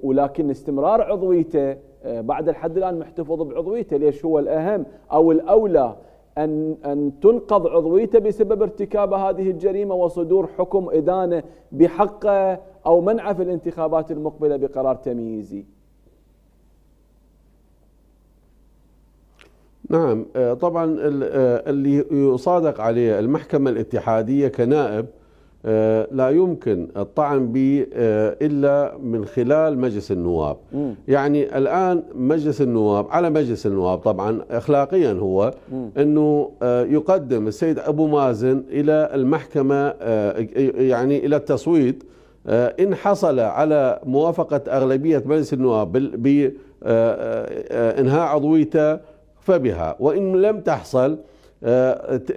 ولكن استمرار عضويته بعد الحد الان محتفظ بعضويته. ليش هو الاهم او الاولى ان ان تنقض عضويته بسبب ارتكاب هذه الجريمه وصدور حكم ادانه بحقه او منعه في الانتخابات المقبله بقرار تمييزي؟ نعم طبعا اللي يصادق عليه المحكمة الاتحادية كنائب لا يمكن الطعن به إلا من خلال مجلس النواب. م. يعني الآن مجلس النواب على مجلس النواب طبعا أخلاقيا هو م. أنه يقدم السيد أبو مازن إلى المحكمة يعني إلى التصويت، إن حصل على موافقة أغلبية مجلس النواب بإنهاء عضويته فبها، وإن لم تحصل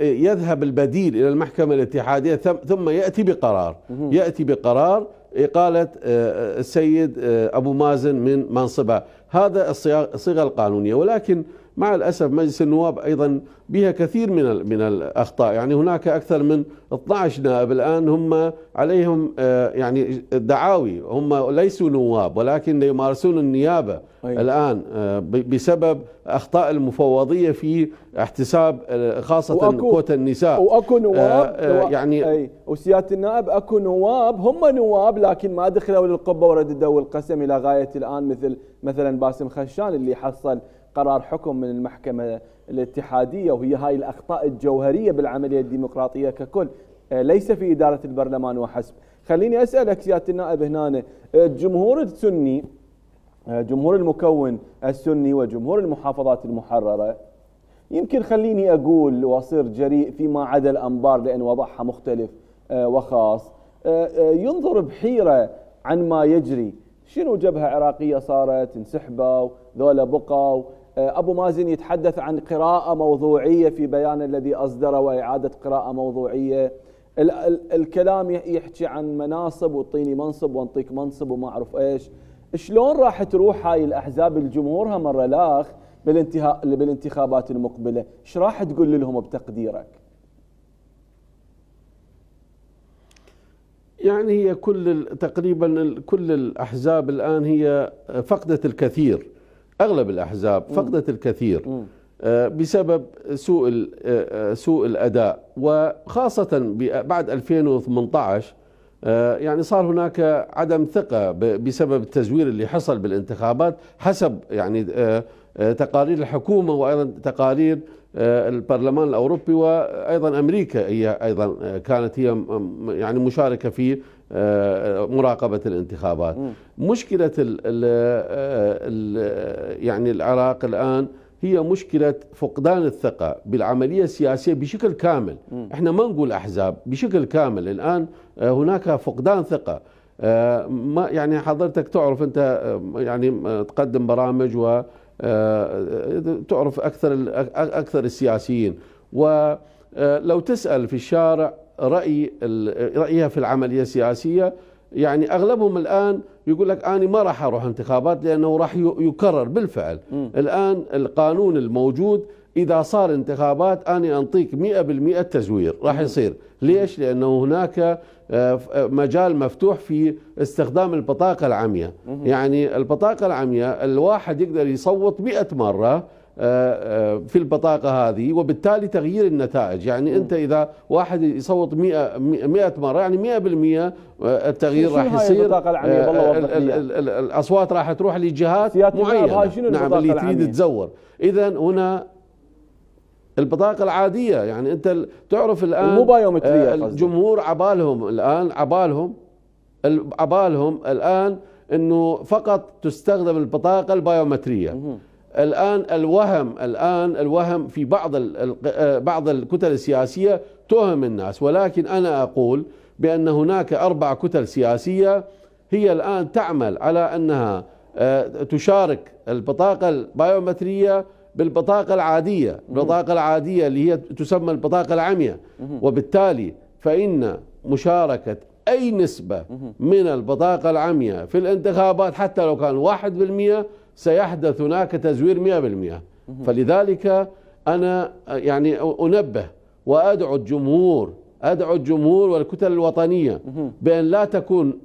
يذهب البديل إلى المحكمة الاتحادية ثم يأتي بقرار يأتي بقرار إقالة السيد أبو مازن من منصبه. هذا الصيغة القانونية، ولكن مع الأسف مجلس النواب أيضا بها كثير من من الأخطاء. يعني هناك أكثر من اثني عشر نائب الآن هم عليهم يعني دعاوي، هم ليسوا نواب ولكن يمارسون النيابة أيوة. الآن بسبب أخطاء المفوضية في احتساب خاصة كوتا النساء. وأكو نواب آه يعني أي وسيادة النائب أكو نواب هم نواب لكن ما دخلوا للقبة ورددوا القسم إلى غاية الآن، مثل مثلا باسم خشان اللي حصل قرار حكم من المحكمة الاتحادية، وهي هاي الأخطاء الجوهرية بالعملية الديمقراطية ككل، ليس في إدارة البرلمان وحسب. خليني أسألك سيادة النائب هنا، الجمهور السني، جمهور المكون السني وجمهور المحافظات المحررة، يمكن خليني أقول وأصير جريء فيما عدا الأنبار لأن وضعها مختلف وخاص، ينظر بحيرة عن ما يجري. شنو جبهة عراقية صارت انسحبوا ذولا بقوا، أبو مازن يتحدث عن قراءة موضوعية في بيان الذي أصدره وإعادة قراءة موضوعية، ال ال الكلام يحكي عن مناصب وطيني منصب وانطيك منصب وما أعرف إيش. شلون راح تروح هاي الأحزاب الجمهورها مرة لاخ بالانتهاء بالانتخابات المقبلة؟ ايش راح تقول لهم بتقديرك؟ يعني هي كل تقريبا كل الأحزاب الآن هي فقدت الكثير، أغلب الأحزاب فقدت الكثير بسبب سوء سوء الأداء، وخاصة بعد ألفين وثمانية عشر يعني صار هناك عدم ثقة بسبب التزوير اللي حصل بالانتخابات حسب يعني تقارير الحكومة وأيضا تقارير البرلمان الأوروبي، وأيضا أمريكا هي أيضا كانت هي يعني مشاركة في مراقبة الانتخابات. م. مشكلة ال ال يعني العراق الآن هي مشكلة فقدان الثقة بالعملية السياسية بشكل كامل. م. احنا ما نقول أحزاب، بشكل كامل الآن هناك فقدان ثقة. ما يعني حضرتك تعرف أنت يعني تقدم برامج و تعرف أكثر أكثر السياسيين، ولو تسأل في الشارع رأي رأيها في العملية السياسية يعني أغلبهم الآن يقول لك أنا ما راح أروح انتخابات لأنه راح يكرر بالفعل. م. الآن القانون الموجود إذا صار انتخابات أنا أنطيك مئة بالمئة تزوير راح يصير. ليش؟ لأنه هناك مجال مفتوح في استخدام البطاقة العمياء. يعني البطاقة العمياء الواحد يقدر يصوت مئة مرة في البطاقة هذه، وبالتالي تغيير النتائج. يعني أنت إذا واحد يصوت مئة مرة يعني مئة بالمئة التغيير راح يصير، الأصوات راح تروح لجهات معينة نعم اللي تريد تزور. إذا هنا البطاقة العادية يعني أنت تعرف الآن الجمهور عبالهم الآن عبالهم عبالهم الآن أنه فقط تستخدم البطاقة البايومترية. الآن الوهم الآن الوهم في بعض بعض الكتل السياسية توهم الناس، ولكن أنا أقول بأن هناك أربع كتل سياسية هي الآن تعمل على أنها تشارك البطاقة البايومترية بالبطاقة العادية، البطاقة العادية اللي هي تسمى البطاقة العمياء. وبالتالي فإن مشاركة أي نسبة من البطاقة العمياء في الانتخابات حتى لو كان واحد بالمئة سيحدث هناك تزوير مئة بالمئة. فلذلك أنا يعني أنبه وأدعو الجمهور أدعو الجمهور والكتل الوطنية بأن لا تكون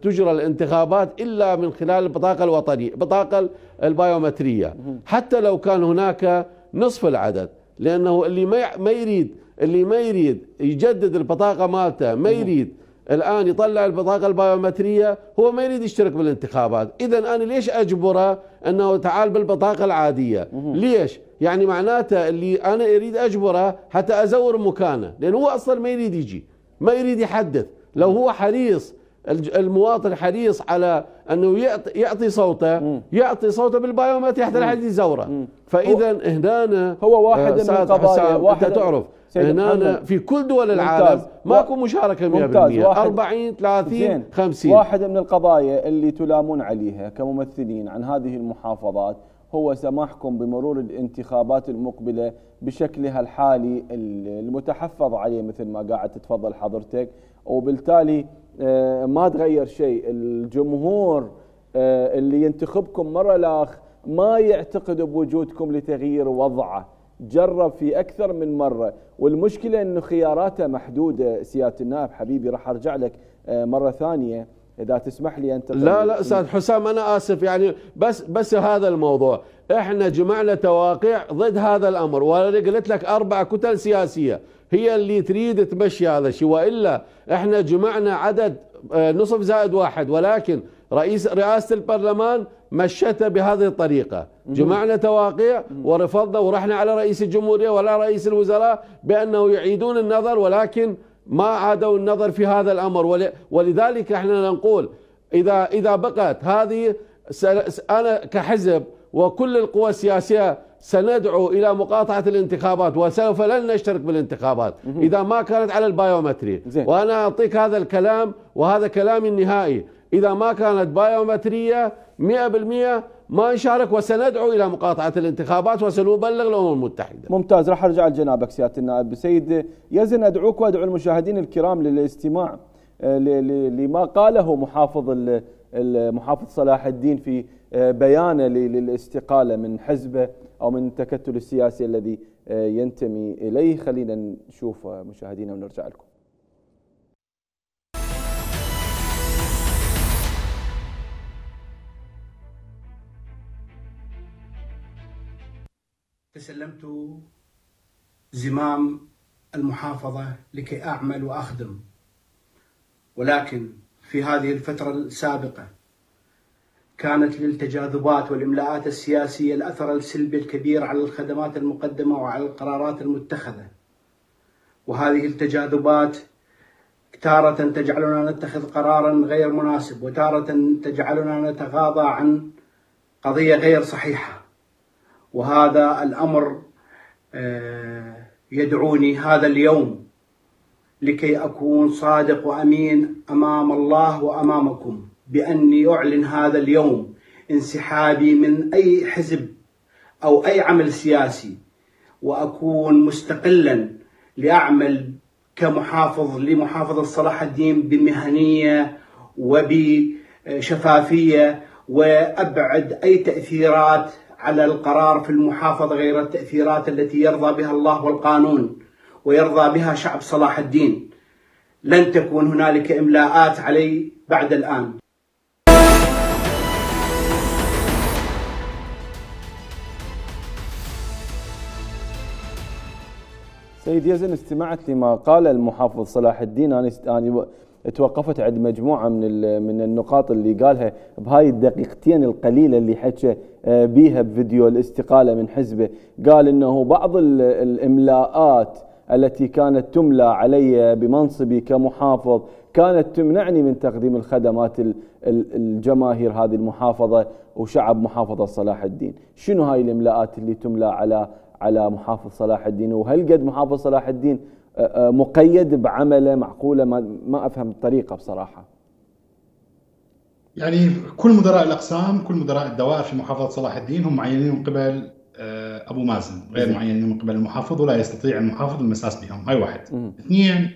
تجرى الانتخابات إلا من خلال البطاقة الوطنية البطاقة البايومترية، حتى لو كان هناك نصف العدد، لأنه اللي ما يريد اللي ما يريد يجدد البطاقة مالته، ما يريد الآن يطلع البطاقة البايومترية، هو ما يريد يشترك بالانتخابات. إذا أنا ليش أجبره أنه تعال بالبطاقة العادية؟ ليش؟ يعني معناته اللي أنا أريد أجبره حتى أزور مكانه، لأنه هو أصلا ما يريد يجي، ما يريد يحدث. لو هو حريص المواطن حريص على أنه يعطي, يعطي صوته يعطي صوته بالبايومترية حتى لا حد يزوره. فإذا هنا هو واحد من القضايا، واحد أنت تعرف هنا في كل دول العالم ماكو مشاركة مئة بالمئة، أربعين ثلاثين خمسين. واحد من القضايا اللي تلامون عليها كممثلين عن هذه المحافظات هو سماحكم بمرور الانتخابات المقبلة بشكلها الحالي المتحفظ عليه مثل ما قاعد تتفضل حضرتك، وبالتالي ما تغير شيء. الجمهور اللي ينتخبكم مرة لاخ ما يعتقد بوجودكم لتغيير وضعه، جرب في أكثر من مرة، والمشكلة أنه خياراته محدودة. سيادة النائب حبيبي راح أرجع لك مرة ثانية إذا تسمح لي أنت. لا لا أستاذ حسام أنا آسف، يعني بس بس هذا الموضوع إحنا جمعنا تواقيع ضد هذا الأمر، وأنا قلت لك أربع كتل سياسية هي اللي تريد تمشي هذا الشيء، وإلا إحنا جمعنا عدد نصف زائد واحد، ولكن رئيس رئاسة البرلمان مشته بهذه الطريقة. جمعنا تواقيع ورفضنا ورحنا على رئيس الجمهورية ولا رئيس الوزراء بأنه يعيدون النظر، ولكن ما عادوا النظر في هذا الأمر. ولذلك احنا نقول إذا إذا بقت هذه، أنا كحزب وكل القوى السياسية سندعو إلى مقاطعة الانتخابات، وسوف لن نشترك بالانتخابات إذا ما كانت على البايومتري. وأنا أعطيك هذا الكلام وهذا كلامي النهائي، إذا ما كانت بايومترية مئة بالمئة ما نشارك، وسندعو إلى مقاطعة الانتخابات وسنبلغ الأمم المتحدة. ممتاز، راح أرجع لجنابك سيادة النائب. سيد يزن أدعوك وأدعو المشاهدين الكرام للاستماع لما قاله محافظ المحافظ صلاح الدين في بيانه للاستقالة من حزبه أو من التكتل السياسي الذي ينتمي إليه. خلينا نشوف مشاهدينا ونرجع لكم. تسلمت زمام المحافظة لكي أعمل وأخدم، ولكن في هذه الفترة السابقة كانت للتجاذبات والإملاءات السياسية الأثر السلبي الكبير على الخدمات المقدمة وعلى القرارات المتخذة، وهذه التجاذبات تارة تجعلنا نتخذ قرارا غير مناسب، وتارة تجعلنا نتغاضى عن قضية غير صحيحة. وهذا الأمر يدعوني هذا اليوم لكي أكون صادق وأمين أمام الله وأمامكم بأني أعلن هذا اليوم انسحابي من أي حزب أو أي عمل سياسي، وأكون مستقلا لأعمل كمحافظ لمحافظة صلاح الدين بمهنية وبشفافية، وأبعد أي تأثيرات على القرار في المحافظة غير التأثيرات التي يرضى بها الله والقانون ويرضى بها شعب صلاح الدين. لن تكون هنالك إملاءات علي بعد الآن. سيد يزن، استمعت لما قال المحافظ صلاح الدين. أنا أنا توقفت عند مجموعة من من النقاط اللي قالها بهاي الدقيقتين القليلة اللي حكى بيها بفيديو الاستقالة من حزبه. قال إنه بعض الإملاءات التي كانت تملى علي بمنصبي كمحافظ كانت تمنعني من تقديم الخدمات الجماهير هذه المحافظة وشعب محافظة صلاح الدين. شنو هاي الإملاءات اللي تملى على على محافظ صلاح الدين؟ وهل قد محافظ صلاح الدين مقيد بعمله معقولة؟ ما, ما أفهم الطريقة بصراحة. يعني كل مدراء الأقسام، كل مدراء الدوائر في محافظة صلاح الدين هم معينين من قبل أبو مازن، غير معينين من قبل المحافظ، ولا يستطيع المحافظ المساس بهم. هاي واحد. مم. اثنين،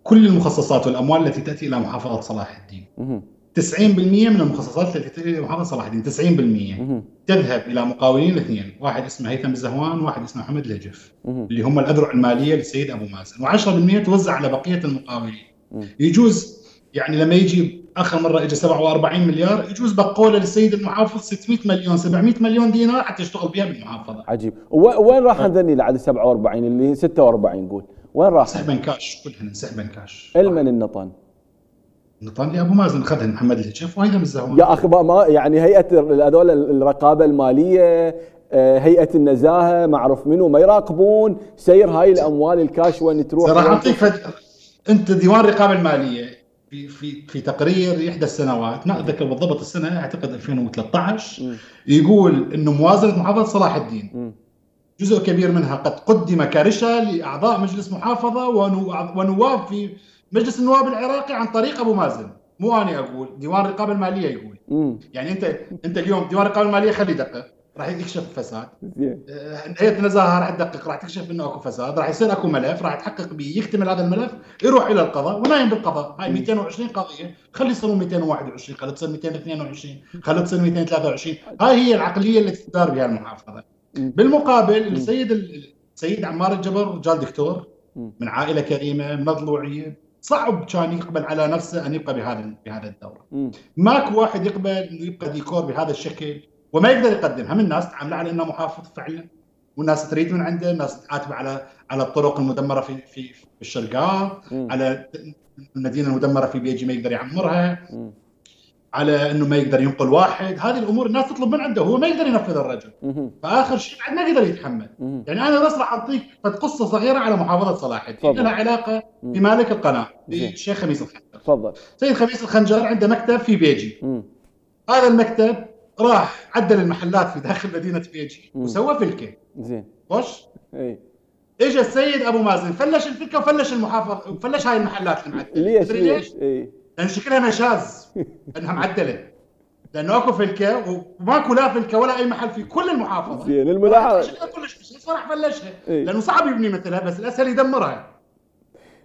كل المخصصات والأموال التي تأتي إلى محافظة صلاح الدين، مم. تسعين بالمئة من المخصصات التي تأتي إلى محافظة صلاح الدين، تسعين بالمئة مم. تذهب إلى مقاولين اثنين، واحد اسمه هيثم الزهوان وواحد اسمه محمد الهجف، مم. اللي هم الأذرع المالية للسيد أبو مازن، وعشرة بالمئة توزع على بقية المقاولين. مم. يجوز يعني لما يجي آخر مرة إجا سبعة وأربعين مليار، يجوز بقولة للسيد المحافظ ستمئة مليون سبعمئة مليون دينار حتى يشتغل بها بالمحافظة. عجيب. وين راح هذني لعد سبعة وأربعين اللي ستة وأربعين قول وين راح؟ سحبا كاش، كلهن سحبا كاش. المن النطن؟ النطن لأبو مازن خذهن محمد الهجف وهيثم الزهوان. يا أخي ما يعني هيئة هذول الرقابة المالية، هيئة النزاهة، معروف منو ما يراقبون سير هاي الأموال الكاش وين تروح؟ راح أعطيك فد... أنت ديوان الرقابة المالية في في في تقرير إحدى السنوات، ما أتذكر بالضبط السنة، أعتقد ألفين وثلاثة عشر، م. يقول إنه موازنة محافظة صلاح الدين م. جزء كبير منها قد قدم كرشة لأعضاء مجلس محافظة ونواب في مجلس النواب العراقي عن طريق أبو مازن. مو أنا أقول، ديوان الرقابة المالية يقول. م. يعني أنت أنت اليوم ديوان الرقابة المالية خلي دقق، راح يكشف فساد. هيئة النزاهة راح تدقق، راح تكشف انه اكو فساد، راح يصير اكو ملف، راح يتحقق به، يكتمل هذا الملف، يروح الى القضاء ونايم بالقضاء. هاي مئتين وعشرين قضية، خلي يصيروا مئتين وواحد وعشرين، خلي تصير مئتين واثنين وعشرين، خلي تصير مئتين وثلاثة وعشرين. هاي هي العقلية اللي تدار بها المحافظة. بالمقابل السيد السيد عمار الجبر رجال دكتور من عائلة كريمة من ضلوعية، صعب كان يقبل على نفسه ان يبقى بهذا بهذا الدورة. ماكو واحد يقبل انه يبقى ديكور بهذا الشكل وما يقدر يقدم. هم الناس تعامل على انه محافظ فعلا، والناس تريد من عنده، الناس تعاتب على على الطرق المدمره في في في الشرقاء، على المدينه المدمره في بيجي ما يقدر يعمرها، م. على انه ما يقدر ينقل واحد. هذه الامور الناس تطلب من عنده، هو ما يقدر ينفذ الرجل. م. فاخر شيء بعد ما يقدر يتحمل. م. يعني انا بس راح اعطيك قصه صغيره على محافظه صلاح الدين لها علاقه بمالك القناه الشيخ خميس الخنجر. تفضل. سيد خميس الخنجر عنده مكتب في بيجي. م. هذا المكتب راح عدل المحلات في داخل مدينة بيجي وسوى فلكة. زين. وش؟ اي. اجى السيد ابو مازن فلش الفلكة وفلش المحافظ وفلش هاي المحلات المعدلة. ليش؟ ليش؟ اي. لأن شكلها نشاز انها معدلة. لأنه اكو فلكة وماكو لا فلكة ولا اي محل في كل المحافظة. زين الملاحظة. شكلها كلش مش صراحة فلشها. إيه؟ لأنه صعب يبني مثلها بس الأسهل يدمرها.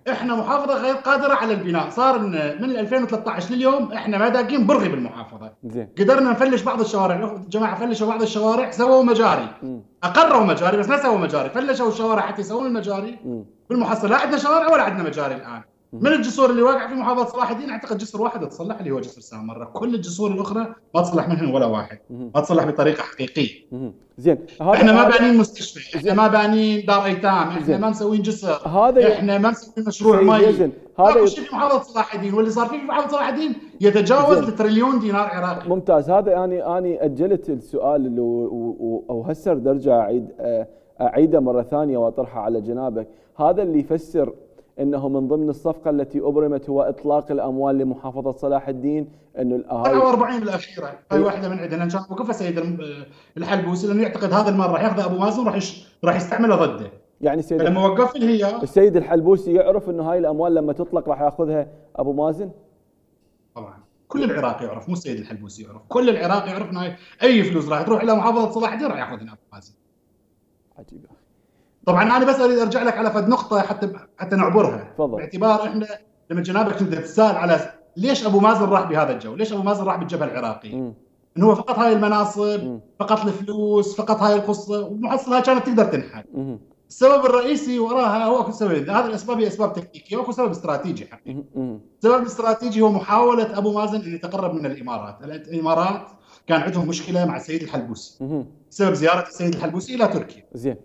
احنا محافظه غير قادره على البناء، صار من ألفين وثلاثة عشر لليوم احنا ما داقين برغي بالمحافظه. زين. قدرنا نفلش بعض الشوارع، الجماعه فلشوا بعض الشوارع سووا مجاري. م. اقروا مجاري بس ما سووا مجاري، فلشوا الشوارع حتى يسوون المجاري. م. بالمحصله لا عندنا شوارع ولا عندنا مجاري الان. م. من الجسور اللي واقع في محافظه صلاح الدين اعتقد جسر واحد تصلح اللي هو جسر سامره، كل الجسور الاخرى ما تصلح منهم ولا واحد. م. ما تصلح بطريقه حقيقيه. م. زين. احنا ما بانين مستشفى، احنا ما بانين دار ايتام، احنا زين. ما مسوين جسر، هذا احنا ما مسوين مشروع مي. هذا شيء في محافظه صلاح الدين، واللي صار فيه في محافظه صلاح الدين يتجاوز التريليون دينار عراقي. ممتاز. هذا يعني اني اجلت السؤال اللي او هسه ارجع اعيد اعيده مره ثانيه واطرحه على جنابك. هذا اللي يفسر انه من ضمن الصفقه التي ابرمت هو اطلاق الاموال لمحافظه صلاح الدين، انه الاهالي سبعة وأربعين بالاخيره هاي واحده من عندنا، كان وقفها سيد الحلبوسي لانه يعتقد هذا المال راح ياخذ ابو مازن راح يش... راح يستعمله ضده. يعني سيد لما وقف هي السيد الحلبوسي يعرف انه هاي الاموال لما تطلق راح ياخذها ابو مازن؟ طبعا كل العراق يعرف، مو السيد الحلبوسي يعرف، كل العراق يعرف انه اي فلوس راح تروح الى محافظه صلاح الدين راح ياخذها ابو مازن. عجيب. طبعا انا بس اريد ارجع لك على فد نقطه حتى حتى نعبرها. فضل. باعتبار احنا لما جنابك كنت تسال على ليش ابو مازن راح بهذا الجو، ليش ابو مازن راح بالجبهه العراقي؟ م. انه هو فقط هاي المناصب، م. فقط الفلوس، فقط هاي القصه، ومحصلها كانت تقدر تنحل. م. السبب الرئيسي وراها هو اكو سبب، هذه الاسباب هي اسباب تكتيكيه واكو سبب استراتيجي حقيقي. السبب الاستراتيجي هو محاوله ابو مازن ان يتقرب من الامارات، الامارات كان عندهم مشكله مع السيد الحلبوسي. بسبب زياره السيد الحلبوسي الى تركيا. زين.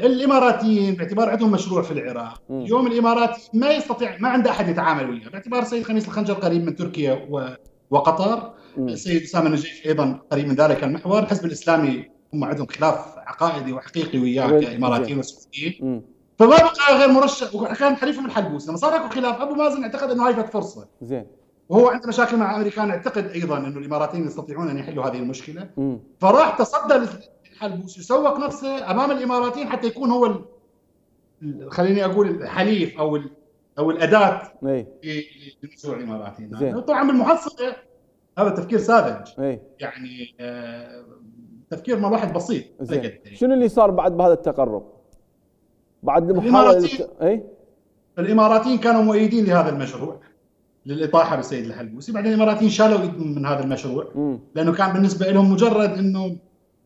الاماراتيين باعتبار عندهم مشروع في العراق، اليوم الامارات ما يستطيع، ما عنده احد يتعامل وياه، باعتبار السيد خميس الخنجر قريب من تركيا وقطر، السيد اسامه النجيف ايضا قريب من ذلك المحور، الحزب الاسلامي هم عندهم خلاف عقائدي وحقيقي وياه كاماراتيين وسعوديين، فما بقى غير مرشح، وكان حليفهم الحلبوسي، لما صار اكو خلاف ابو مازن اعتقد انه هاي فت فرصه زين، وهو عنده مشاكل مع امريكان، اعتقد ايضا انه الاماراتيين يستطيعون ان يحلوا هذه المشكله، مم. فراح تصدى للحلبوسي وسوق نفسه امام الاماراتيين حتى يكون هو خليني اقول الحليف او او الاداه لمشروع الاماراتيين. طبعا بالمحصله هذا تفكير ساذج، يعني آه تفكير ما واحد بسيط. شنو اللي صار بعد بهذا التقرب؟ بعد المحاولة اي الاماراتيين كانوا مؤيدين لهذا المشروع للاطاحه بالسيد الحلبوسي، بعدين الاماراتيين شالوا ايدهم من هذا المشروع م. لانه كان بالنسبه لهم مجرد انه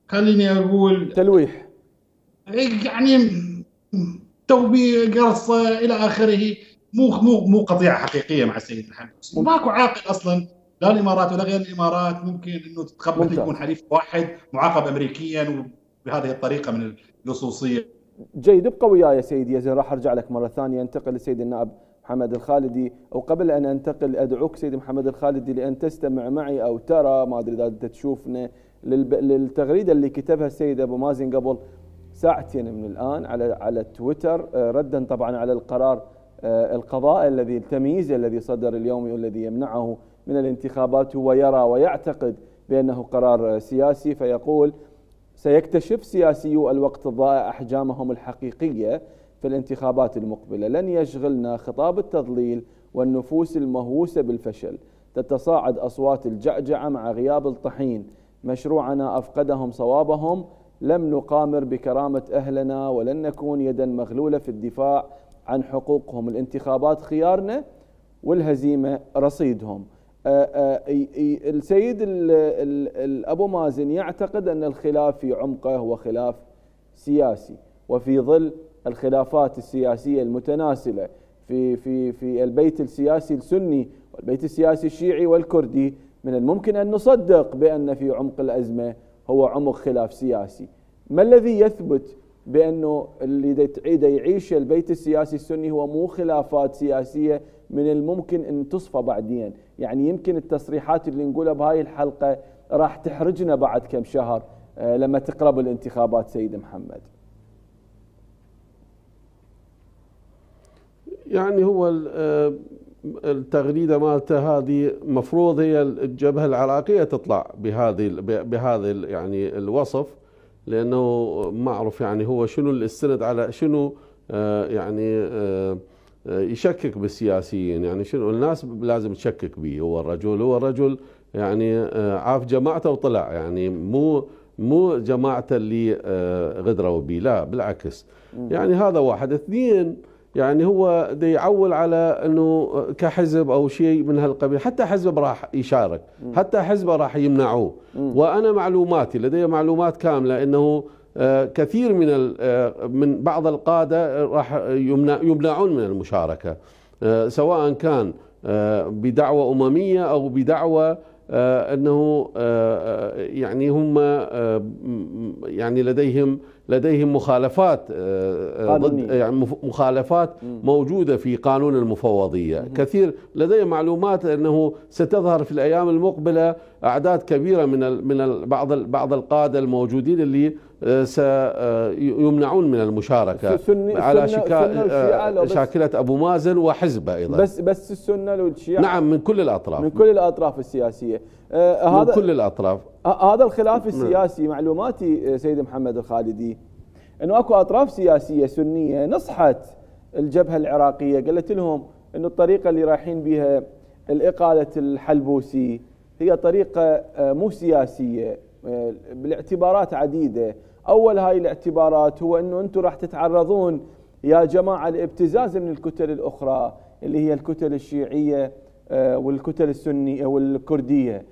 خليني اقول تلويح، يعني توبيخ قرصه الى اخره، مو مو مو قضيه حقيقيه مع السيد الحلبوسي، ماكو عاقل اصلا لا الامارات ولا غير الامارات ممكن انه تتقبل يكون حليف واحد معاقب امريكيا وبهذه الطريقه من اللصوصيه. جيد، ابقى وياي سيدي يزن، راح ارجع لك مره ثانيه. انتقل للسيد النائب محمد الخالدي، او قبل ان انتقل ادعوك سيدي محمد الخالدي لان تستمع معي او ترى، ما ادري اذا انت تشوفنا، للتغريده اللي كتبها السيد ابو مازن قبل ساعتين من الان على على تويتر، ردا طبعا على القرار القضائي الذي التمييز الذي صدر اليوم والذي يمنعه من الانتخابات. هو يرى ويعتقد بانه قرار سياسي، فيقول: سيكتشف سياسيو الوقت الضائع أحجامهم الحقيقية في الانتخابات المقبلة، لن يشغلنا خطاب التضليل والنفوس المهووسة بالفشل، تتصاعد أصوات الجعجعة مع غياب الطحين، مشروعنا أفقدهم صوابهم، لم نقامر بكرامة أهلنا ولن نكون يدا مغلولة في الدفاع عن حقوقهم، الانتخابات خيارنا والهزيمة رصيدهم. آآ آآ السيد ال ال أبو مازن يعتقد أن الخلاف في عمقه هو خلاف سياسي، وفي ظل الخلافات السياسية المتناسلة في في في البيت السياسي السني والبيت السياسي الشيعي والكردي، من الممكن أن نصدق بأن في عمق الأزمة هو عمق خلاف سياسي. ما الذي يثبت بأنه اللي تعيد يعيش البيت السياسي السني هو مو خلافات سياسية من الممكن أن تصفى بعدين؟ يعني يمكن التصريحات اللي نقولها بهاي الحلقة راح تحرجنا بعد كم شهر لما تقرب الانتخابات. سيد محمد، يعني هو التغريدة مالته هذه مفروض هي الجبهة العراقية تطلع بهذه بهذا يعني الوصف، لأنه ما أعرف يعني هو شنو الاستند على شنو يعني يشكك بالسياسيين، يعني شنو الناس لازم تشكك به. هو الرجل هو الرجل يعني عاف جماعته وطلع، يعني مو مو جماعته اللي غدروا به، لا بالعكس. يعني هذا واحد. اثنين، يعني هو دا يعول على انه كحزب او شيء من هالقبيل، حتى حزب راح يشارك، حتى حزبه راح يمنعوه. وانا معلوماتي لدي معلومات كامله انه كثير من من بعض القاده راح يمنعون من المشاركه، سواء كان بدعوه امميه او بدعوه انه يعني هم يعني لديهم لديهم مخالفات ضد، يعني مخالفات موجوده في قانون المفوضيه. كثير لدي معلومات انه ستظهر في الايام المقبله اعداد كبيره من من بعض بعض القاده الموجودين اللي سيمنعون من المشاركه على شكا شاكله ابو مازن وحزبه ايضا. بس بس السنه والشيعه، نعم، من كل الاطراف، من كل الاطراف السياسيه، آه من هذا كل الاطراف. هذا الخلاف السياسي، معلوماتي سيد محمد الخالدي انه اكو اطراف سياسيه سنيه نصحت الجبهه العراقيه، قالت لهم انه الطريقه اللي رايحين بها الاقاله الحلبوسي هي طريقه مو سياسيه بالاعتبارات عديده. اول هاي الاعتبارات هو انه انتم راح تتعرضون يا جماعه لابتزاز من الكتل الاخرى اللي هي الكتل الشيعيه والكتل السنيه والكرديه،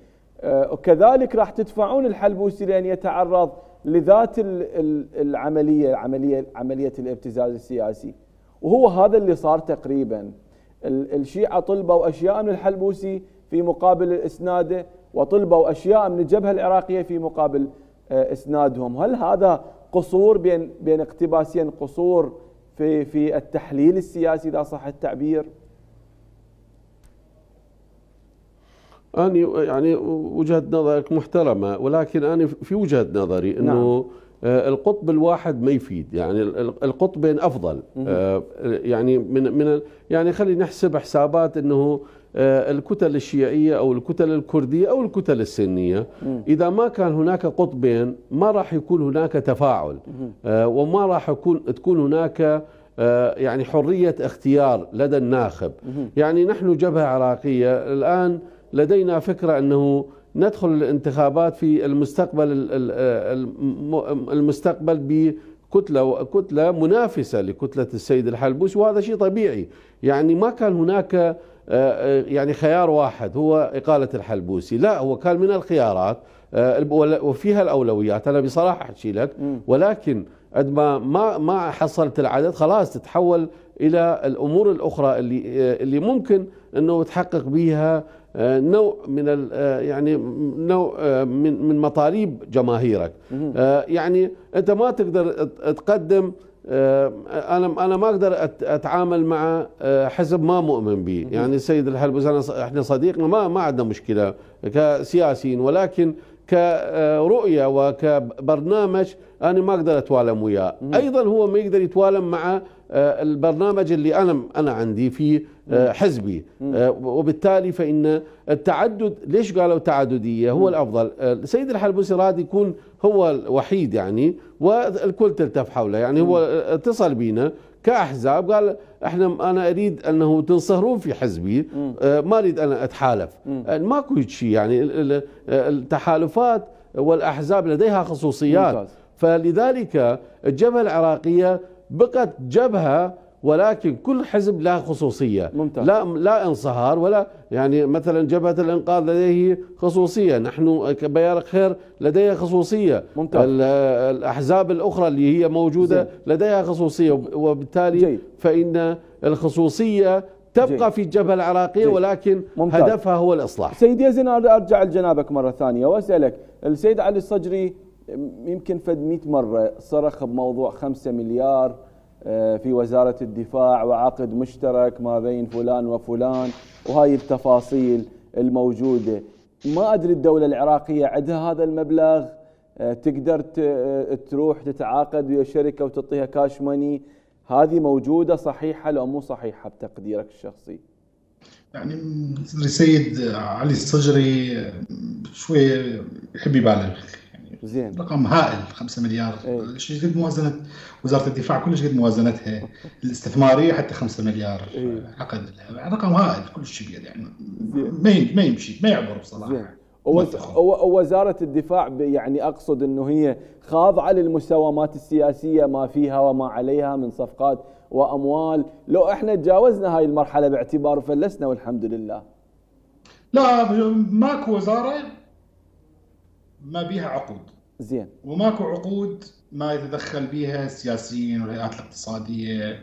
وكذلك راح تدفعون الحلبوسي لان يتعرض لذات العمليه عمليه عمليه الابتزاز السياسي. وهو هذا اللي صار تقريبا. الشيعه طلبوا اشياء من الحلبوسي في مقابل اسناده، وطلبوا اشياء من الجبهه العراقيه في مقابل اسنادهم. هل هذا قصور بين بين اقتباسين، قصور في في التحليل السياسي اذا صح التعبير؟ أنا يعني وجهة نظرك محترمة، ولكن أنا في وجهة نظري أنه نعم. القطب الواحد ما يفيد، يعني القطبين أفضل. يعني من من يعني خلينا نحسب حسابات أنه الكتل الشيعية أو الكتل الكردية أو الكتل السنية، إذا ما كان هناك قطبين ما راح يكون هناك تفاعل، وما راح يكون تكون هناك يعني حرية اختيار لدى الناخب. يعني نحن جبهة عراقية الآن لدينا فكرة أنه ندخل الانتخابات في المستقبل المستقبل بكتلة كتلة منافسة لكتلة السيد الحلبوسي، وهذا شيء طبيعي. يعني ما كان هناك يعني خيار واحد هو إقالة الحلبوسي، لا، هو كان من الخيارات وفيها الأولويات. أنا بصراحة أحكي لك، ولكن قد ما ما ما حصلت العدد خلاص تتحول إلى الأمور الأخرى اللي اللي ممكن أنه تحقق بها نوع من يعني نوع من من مطالب جماهيرك. يعني انت ما تقدر تقدم، انا انا ما اقدر اتعامل مع حزب ما مؤمن به. يعني السيد الحلبوسي انا احنا صديقنا، ما ما عندنا مشكله كسياسيين، ولكن كرؤيه وكبرنامج انا ما اقدر اتوالم وياه. ايضا هو ما يقدر يتوالم مع البرنامج اللي انا انا عندي في حزبي، وبالتالي فان التعدد، ليش قالوا تعدديه هو الافضل. السيد الحلبوسي راد يكون هو الوحيد يعني، والكل تلتف حوله. يعني هو اتصل بينا كاحزاب قال احنا انا اريد انه تنصهرون في حزبي، ما اريد انا اتحالف. ماكو شيء، يعني التحالفات والاحزاب لديها خصوصيات. ممتاز. فلذلك الجبهه العراقيه بقت جبهه، ولكن كل حزب له خصوصيه. ممتاز. لا لا انصهار ولا، يعني مثلا جبهه الانقاذ لديه خصوصيه، نحن كبيار خير لديها خصوصيه. ممتاز. الاحزاب الاخرى اللي هي موجوده زي. لديها خصوصيه، وبالتالي جي. فان الخصوصيه تبقى جي. في الجبهه العراقيه، جي. ولكن ممتاز. هدفها هو الاصلاح. سيد يزن، ارجع لجنابك مره ثانيه واسالك، السيد علي الصجري يمكن فد مئة مره صرخ بموضوع خمسة مليار في وزارة الدفاع وعقد مشترك ما بين فلان وفلان وهاي التفاصيل الموجودة. ما أدري الدولة العراقية عندها هذا المبلغ تقدر تروح تتعاقد ويا شركة وتعطيها كاش ماني؟ هذه موجودة صحيحة لو مو صحيحة بتقديرك الشخصي؟ يعني السيد علي الصجري شوي يحب يبالغ، زين، رقم هائل خمسة مليار. ايه؟ شيء قد موازنه وزاره الدفاع، كلش قد موازنتها الاستثماريه حتى خمسة مليار. ايه؟ عقد رقم هائل كل شيء، يعني ما ما يمشي ما يعبر بصراحه. ووزاره الدفاع يعني اقصد انه هي خاضعه للمساومات السياسيه ما فيها وما عليها من صفقات واموال. لو احنا تجاوزنا هاي المرحله باعتبار فلسنا والحمد لله. لا، ماكو وزاره ما بيها عقود. زين. وماكو عقود ما يتدخل بها السياسيين والهيئات الاقتصاديه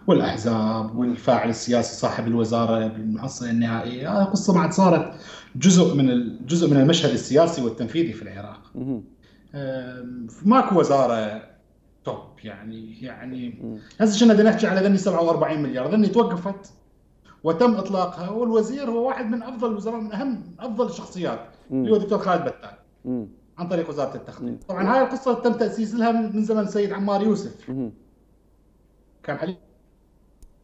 والاحزاب والفاعل السياسي صاحب الوزاره بالمحصله النهائيه. هذه قصه ما عاد صارت جزء من الجزء من المشهد السياسي والتنفيذي في العراق. ماكو وزاره توب، يعني يعني هسه كنا بدنا نحكي على ذني سبعة وأربعين مليار، ذني توقفت وتم اطلاقها، والوزير هو واحد من افضل الوزراء، من اهم افضل الشخصيات اللي هو الدكتور خالد بتال. مم. عن طريق وزاره التخطيط. طبعا هاي القصه تم تاسيس لها من زمن السيد عمار يوسف. مم. كان حليف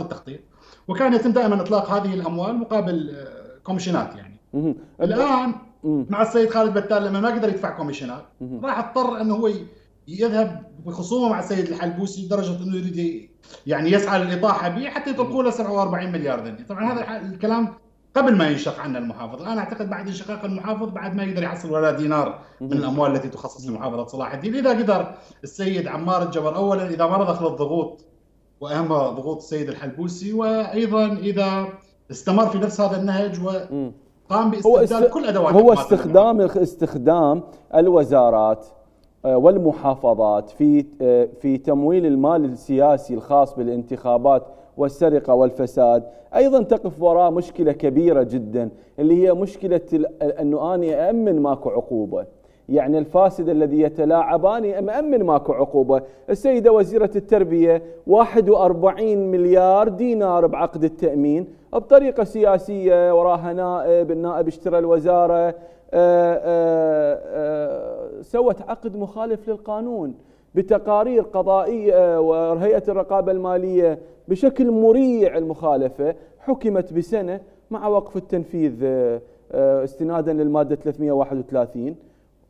التخطيط، وكان يتم دائما اطلاق هذه الاموال مقابل كوميشنات. يعني مم. الان مم. مع السيد خالد بتال لما ما قدر يدفع كوميشنات، راح اضطر انه هو يذهب بخصومه مع السيد الحلبوسي لدرجه انه يريد يعني يسعى للاطاحه به حتى يطلقوا له سبعة وأربعين مليار ذني. طبعا هذا الكلام قبل ما ينشق عنه المحافظ. انا اعتقد بعد انشقاق المحافظ بعد ما يقدر يحصل ولا دينار من الاموال التي تخصص لمحافظه صلاح الدين. اذا قدر السيد عمار الجبر اولا، اذا ما رضخ للضغوط واهمها ضغوط السيد الحلبوسي، وايضا اذا استمر في نفس هذا النهج وقام باستبدال كل ادوات هو استخدام استخدام الوزارات والمحافظات في في تمويل المال السياسي الخاص بالانتخابات والسرقة والفساد. أيضا تقف وراء مشكلة كبيرة جدا اللي هي مشكلة أنه أنا أأمن ماكو عقوبة. يعني الفاسد الذي يتلاعبان مأمن ماكو عقوبة. السيدة وزيرة التربية واحد وأربعين مليار دينار بعقد التأمين بطريقة سياسية، وراها نائب، النائب اشترى الوزارة، آآ آآ سوت عقد مخالف للقانون بتقارير قضائية وهيئة الرقابة المالية بشكل مريع. المخالفة حكمت بسنة مع وقف التنفيذ استنادا للمادة ثلاثمئة وواحد وثلاثين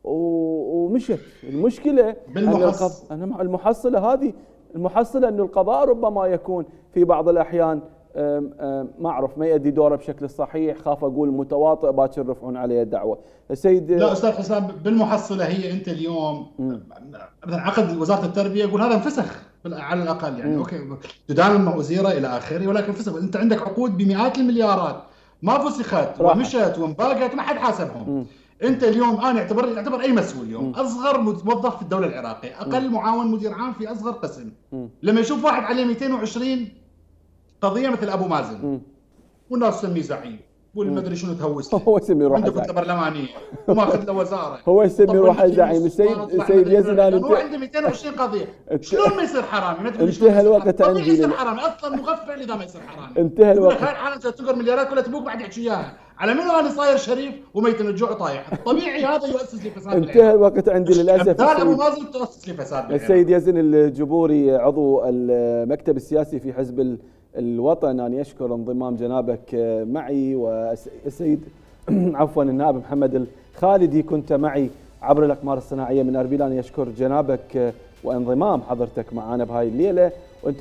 ومشت. المشكلة بالمحص... أن المحصلة هذه المحصلة أن القضاء ربما يكون في بعض الأحيان ما أعرف ما يؤدي دوره بشكل صحيح، خاف أقول متواطئ باكر يرفعون عليه الدعوة. السيد لا أستاذ حسام، بالمحصلة هي أنت اليوم مثلا عقد وزارة التربية يقول هذا انفسخ على الأقل، يعني م. أوكي تدان وزيرة إلى آخره، ولكن فسخ. أنت عندك عقود بمئات المليارات ما فسخت ومشت وانباقت ما حد حاسبهم. م. انت اليوم انا اعتبر اعتبر اي مسؤول اليوم م. اصغر موظف في الدوله العراقيه، اقل م. معاون مدير عام في اصغر قسم، م. لما يشوف واحد عليه مئتين وعشرين قضيه مثل ابو مازن م. والناس تسميه زعيم والمدري شنو تهوس هو يسمي روحه عنده كتله برلمانيه وماخذ له وزاره هو يسمي روحه زعيم. السيد السيد يزن هو عنده مئتين وعشرين قضيه شلون ما يصير حرامي؟ ما تقول انتهى الوقت عندي. يصير حرامي اصلا مغفل اذا ما يصير حرامي. انتهى الوقت. حالا تنقر مليارات كلها تبوك بعد يحكي اياها على منو انا صاير شريف وميت من الجوع طايح. طبيعي هذا يؤسس لفساد. انتهى الوقت عندي للاسف. هذا ابو مازن تؤسس لفساد. السيد يزن الجبوري عضو المكتب السياسي في حزب الوطن، أنا أشكر انضمام جنابك معي، والسيد عفوا النائب محمد الخالدي كنت معي عبر الأقمار الصناعية من أربيل. أنا أشكر جنابك وانضمام حضرتك معنا بهاي الليلة.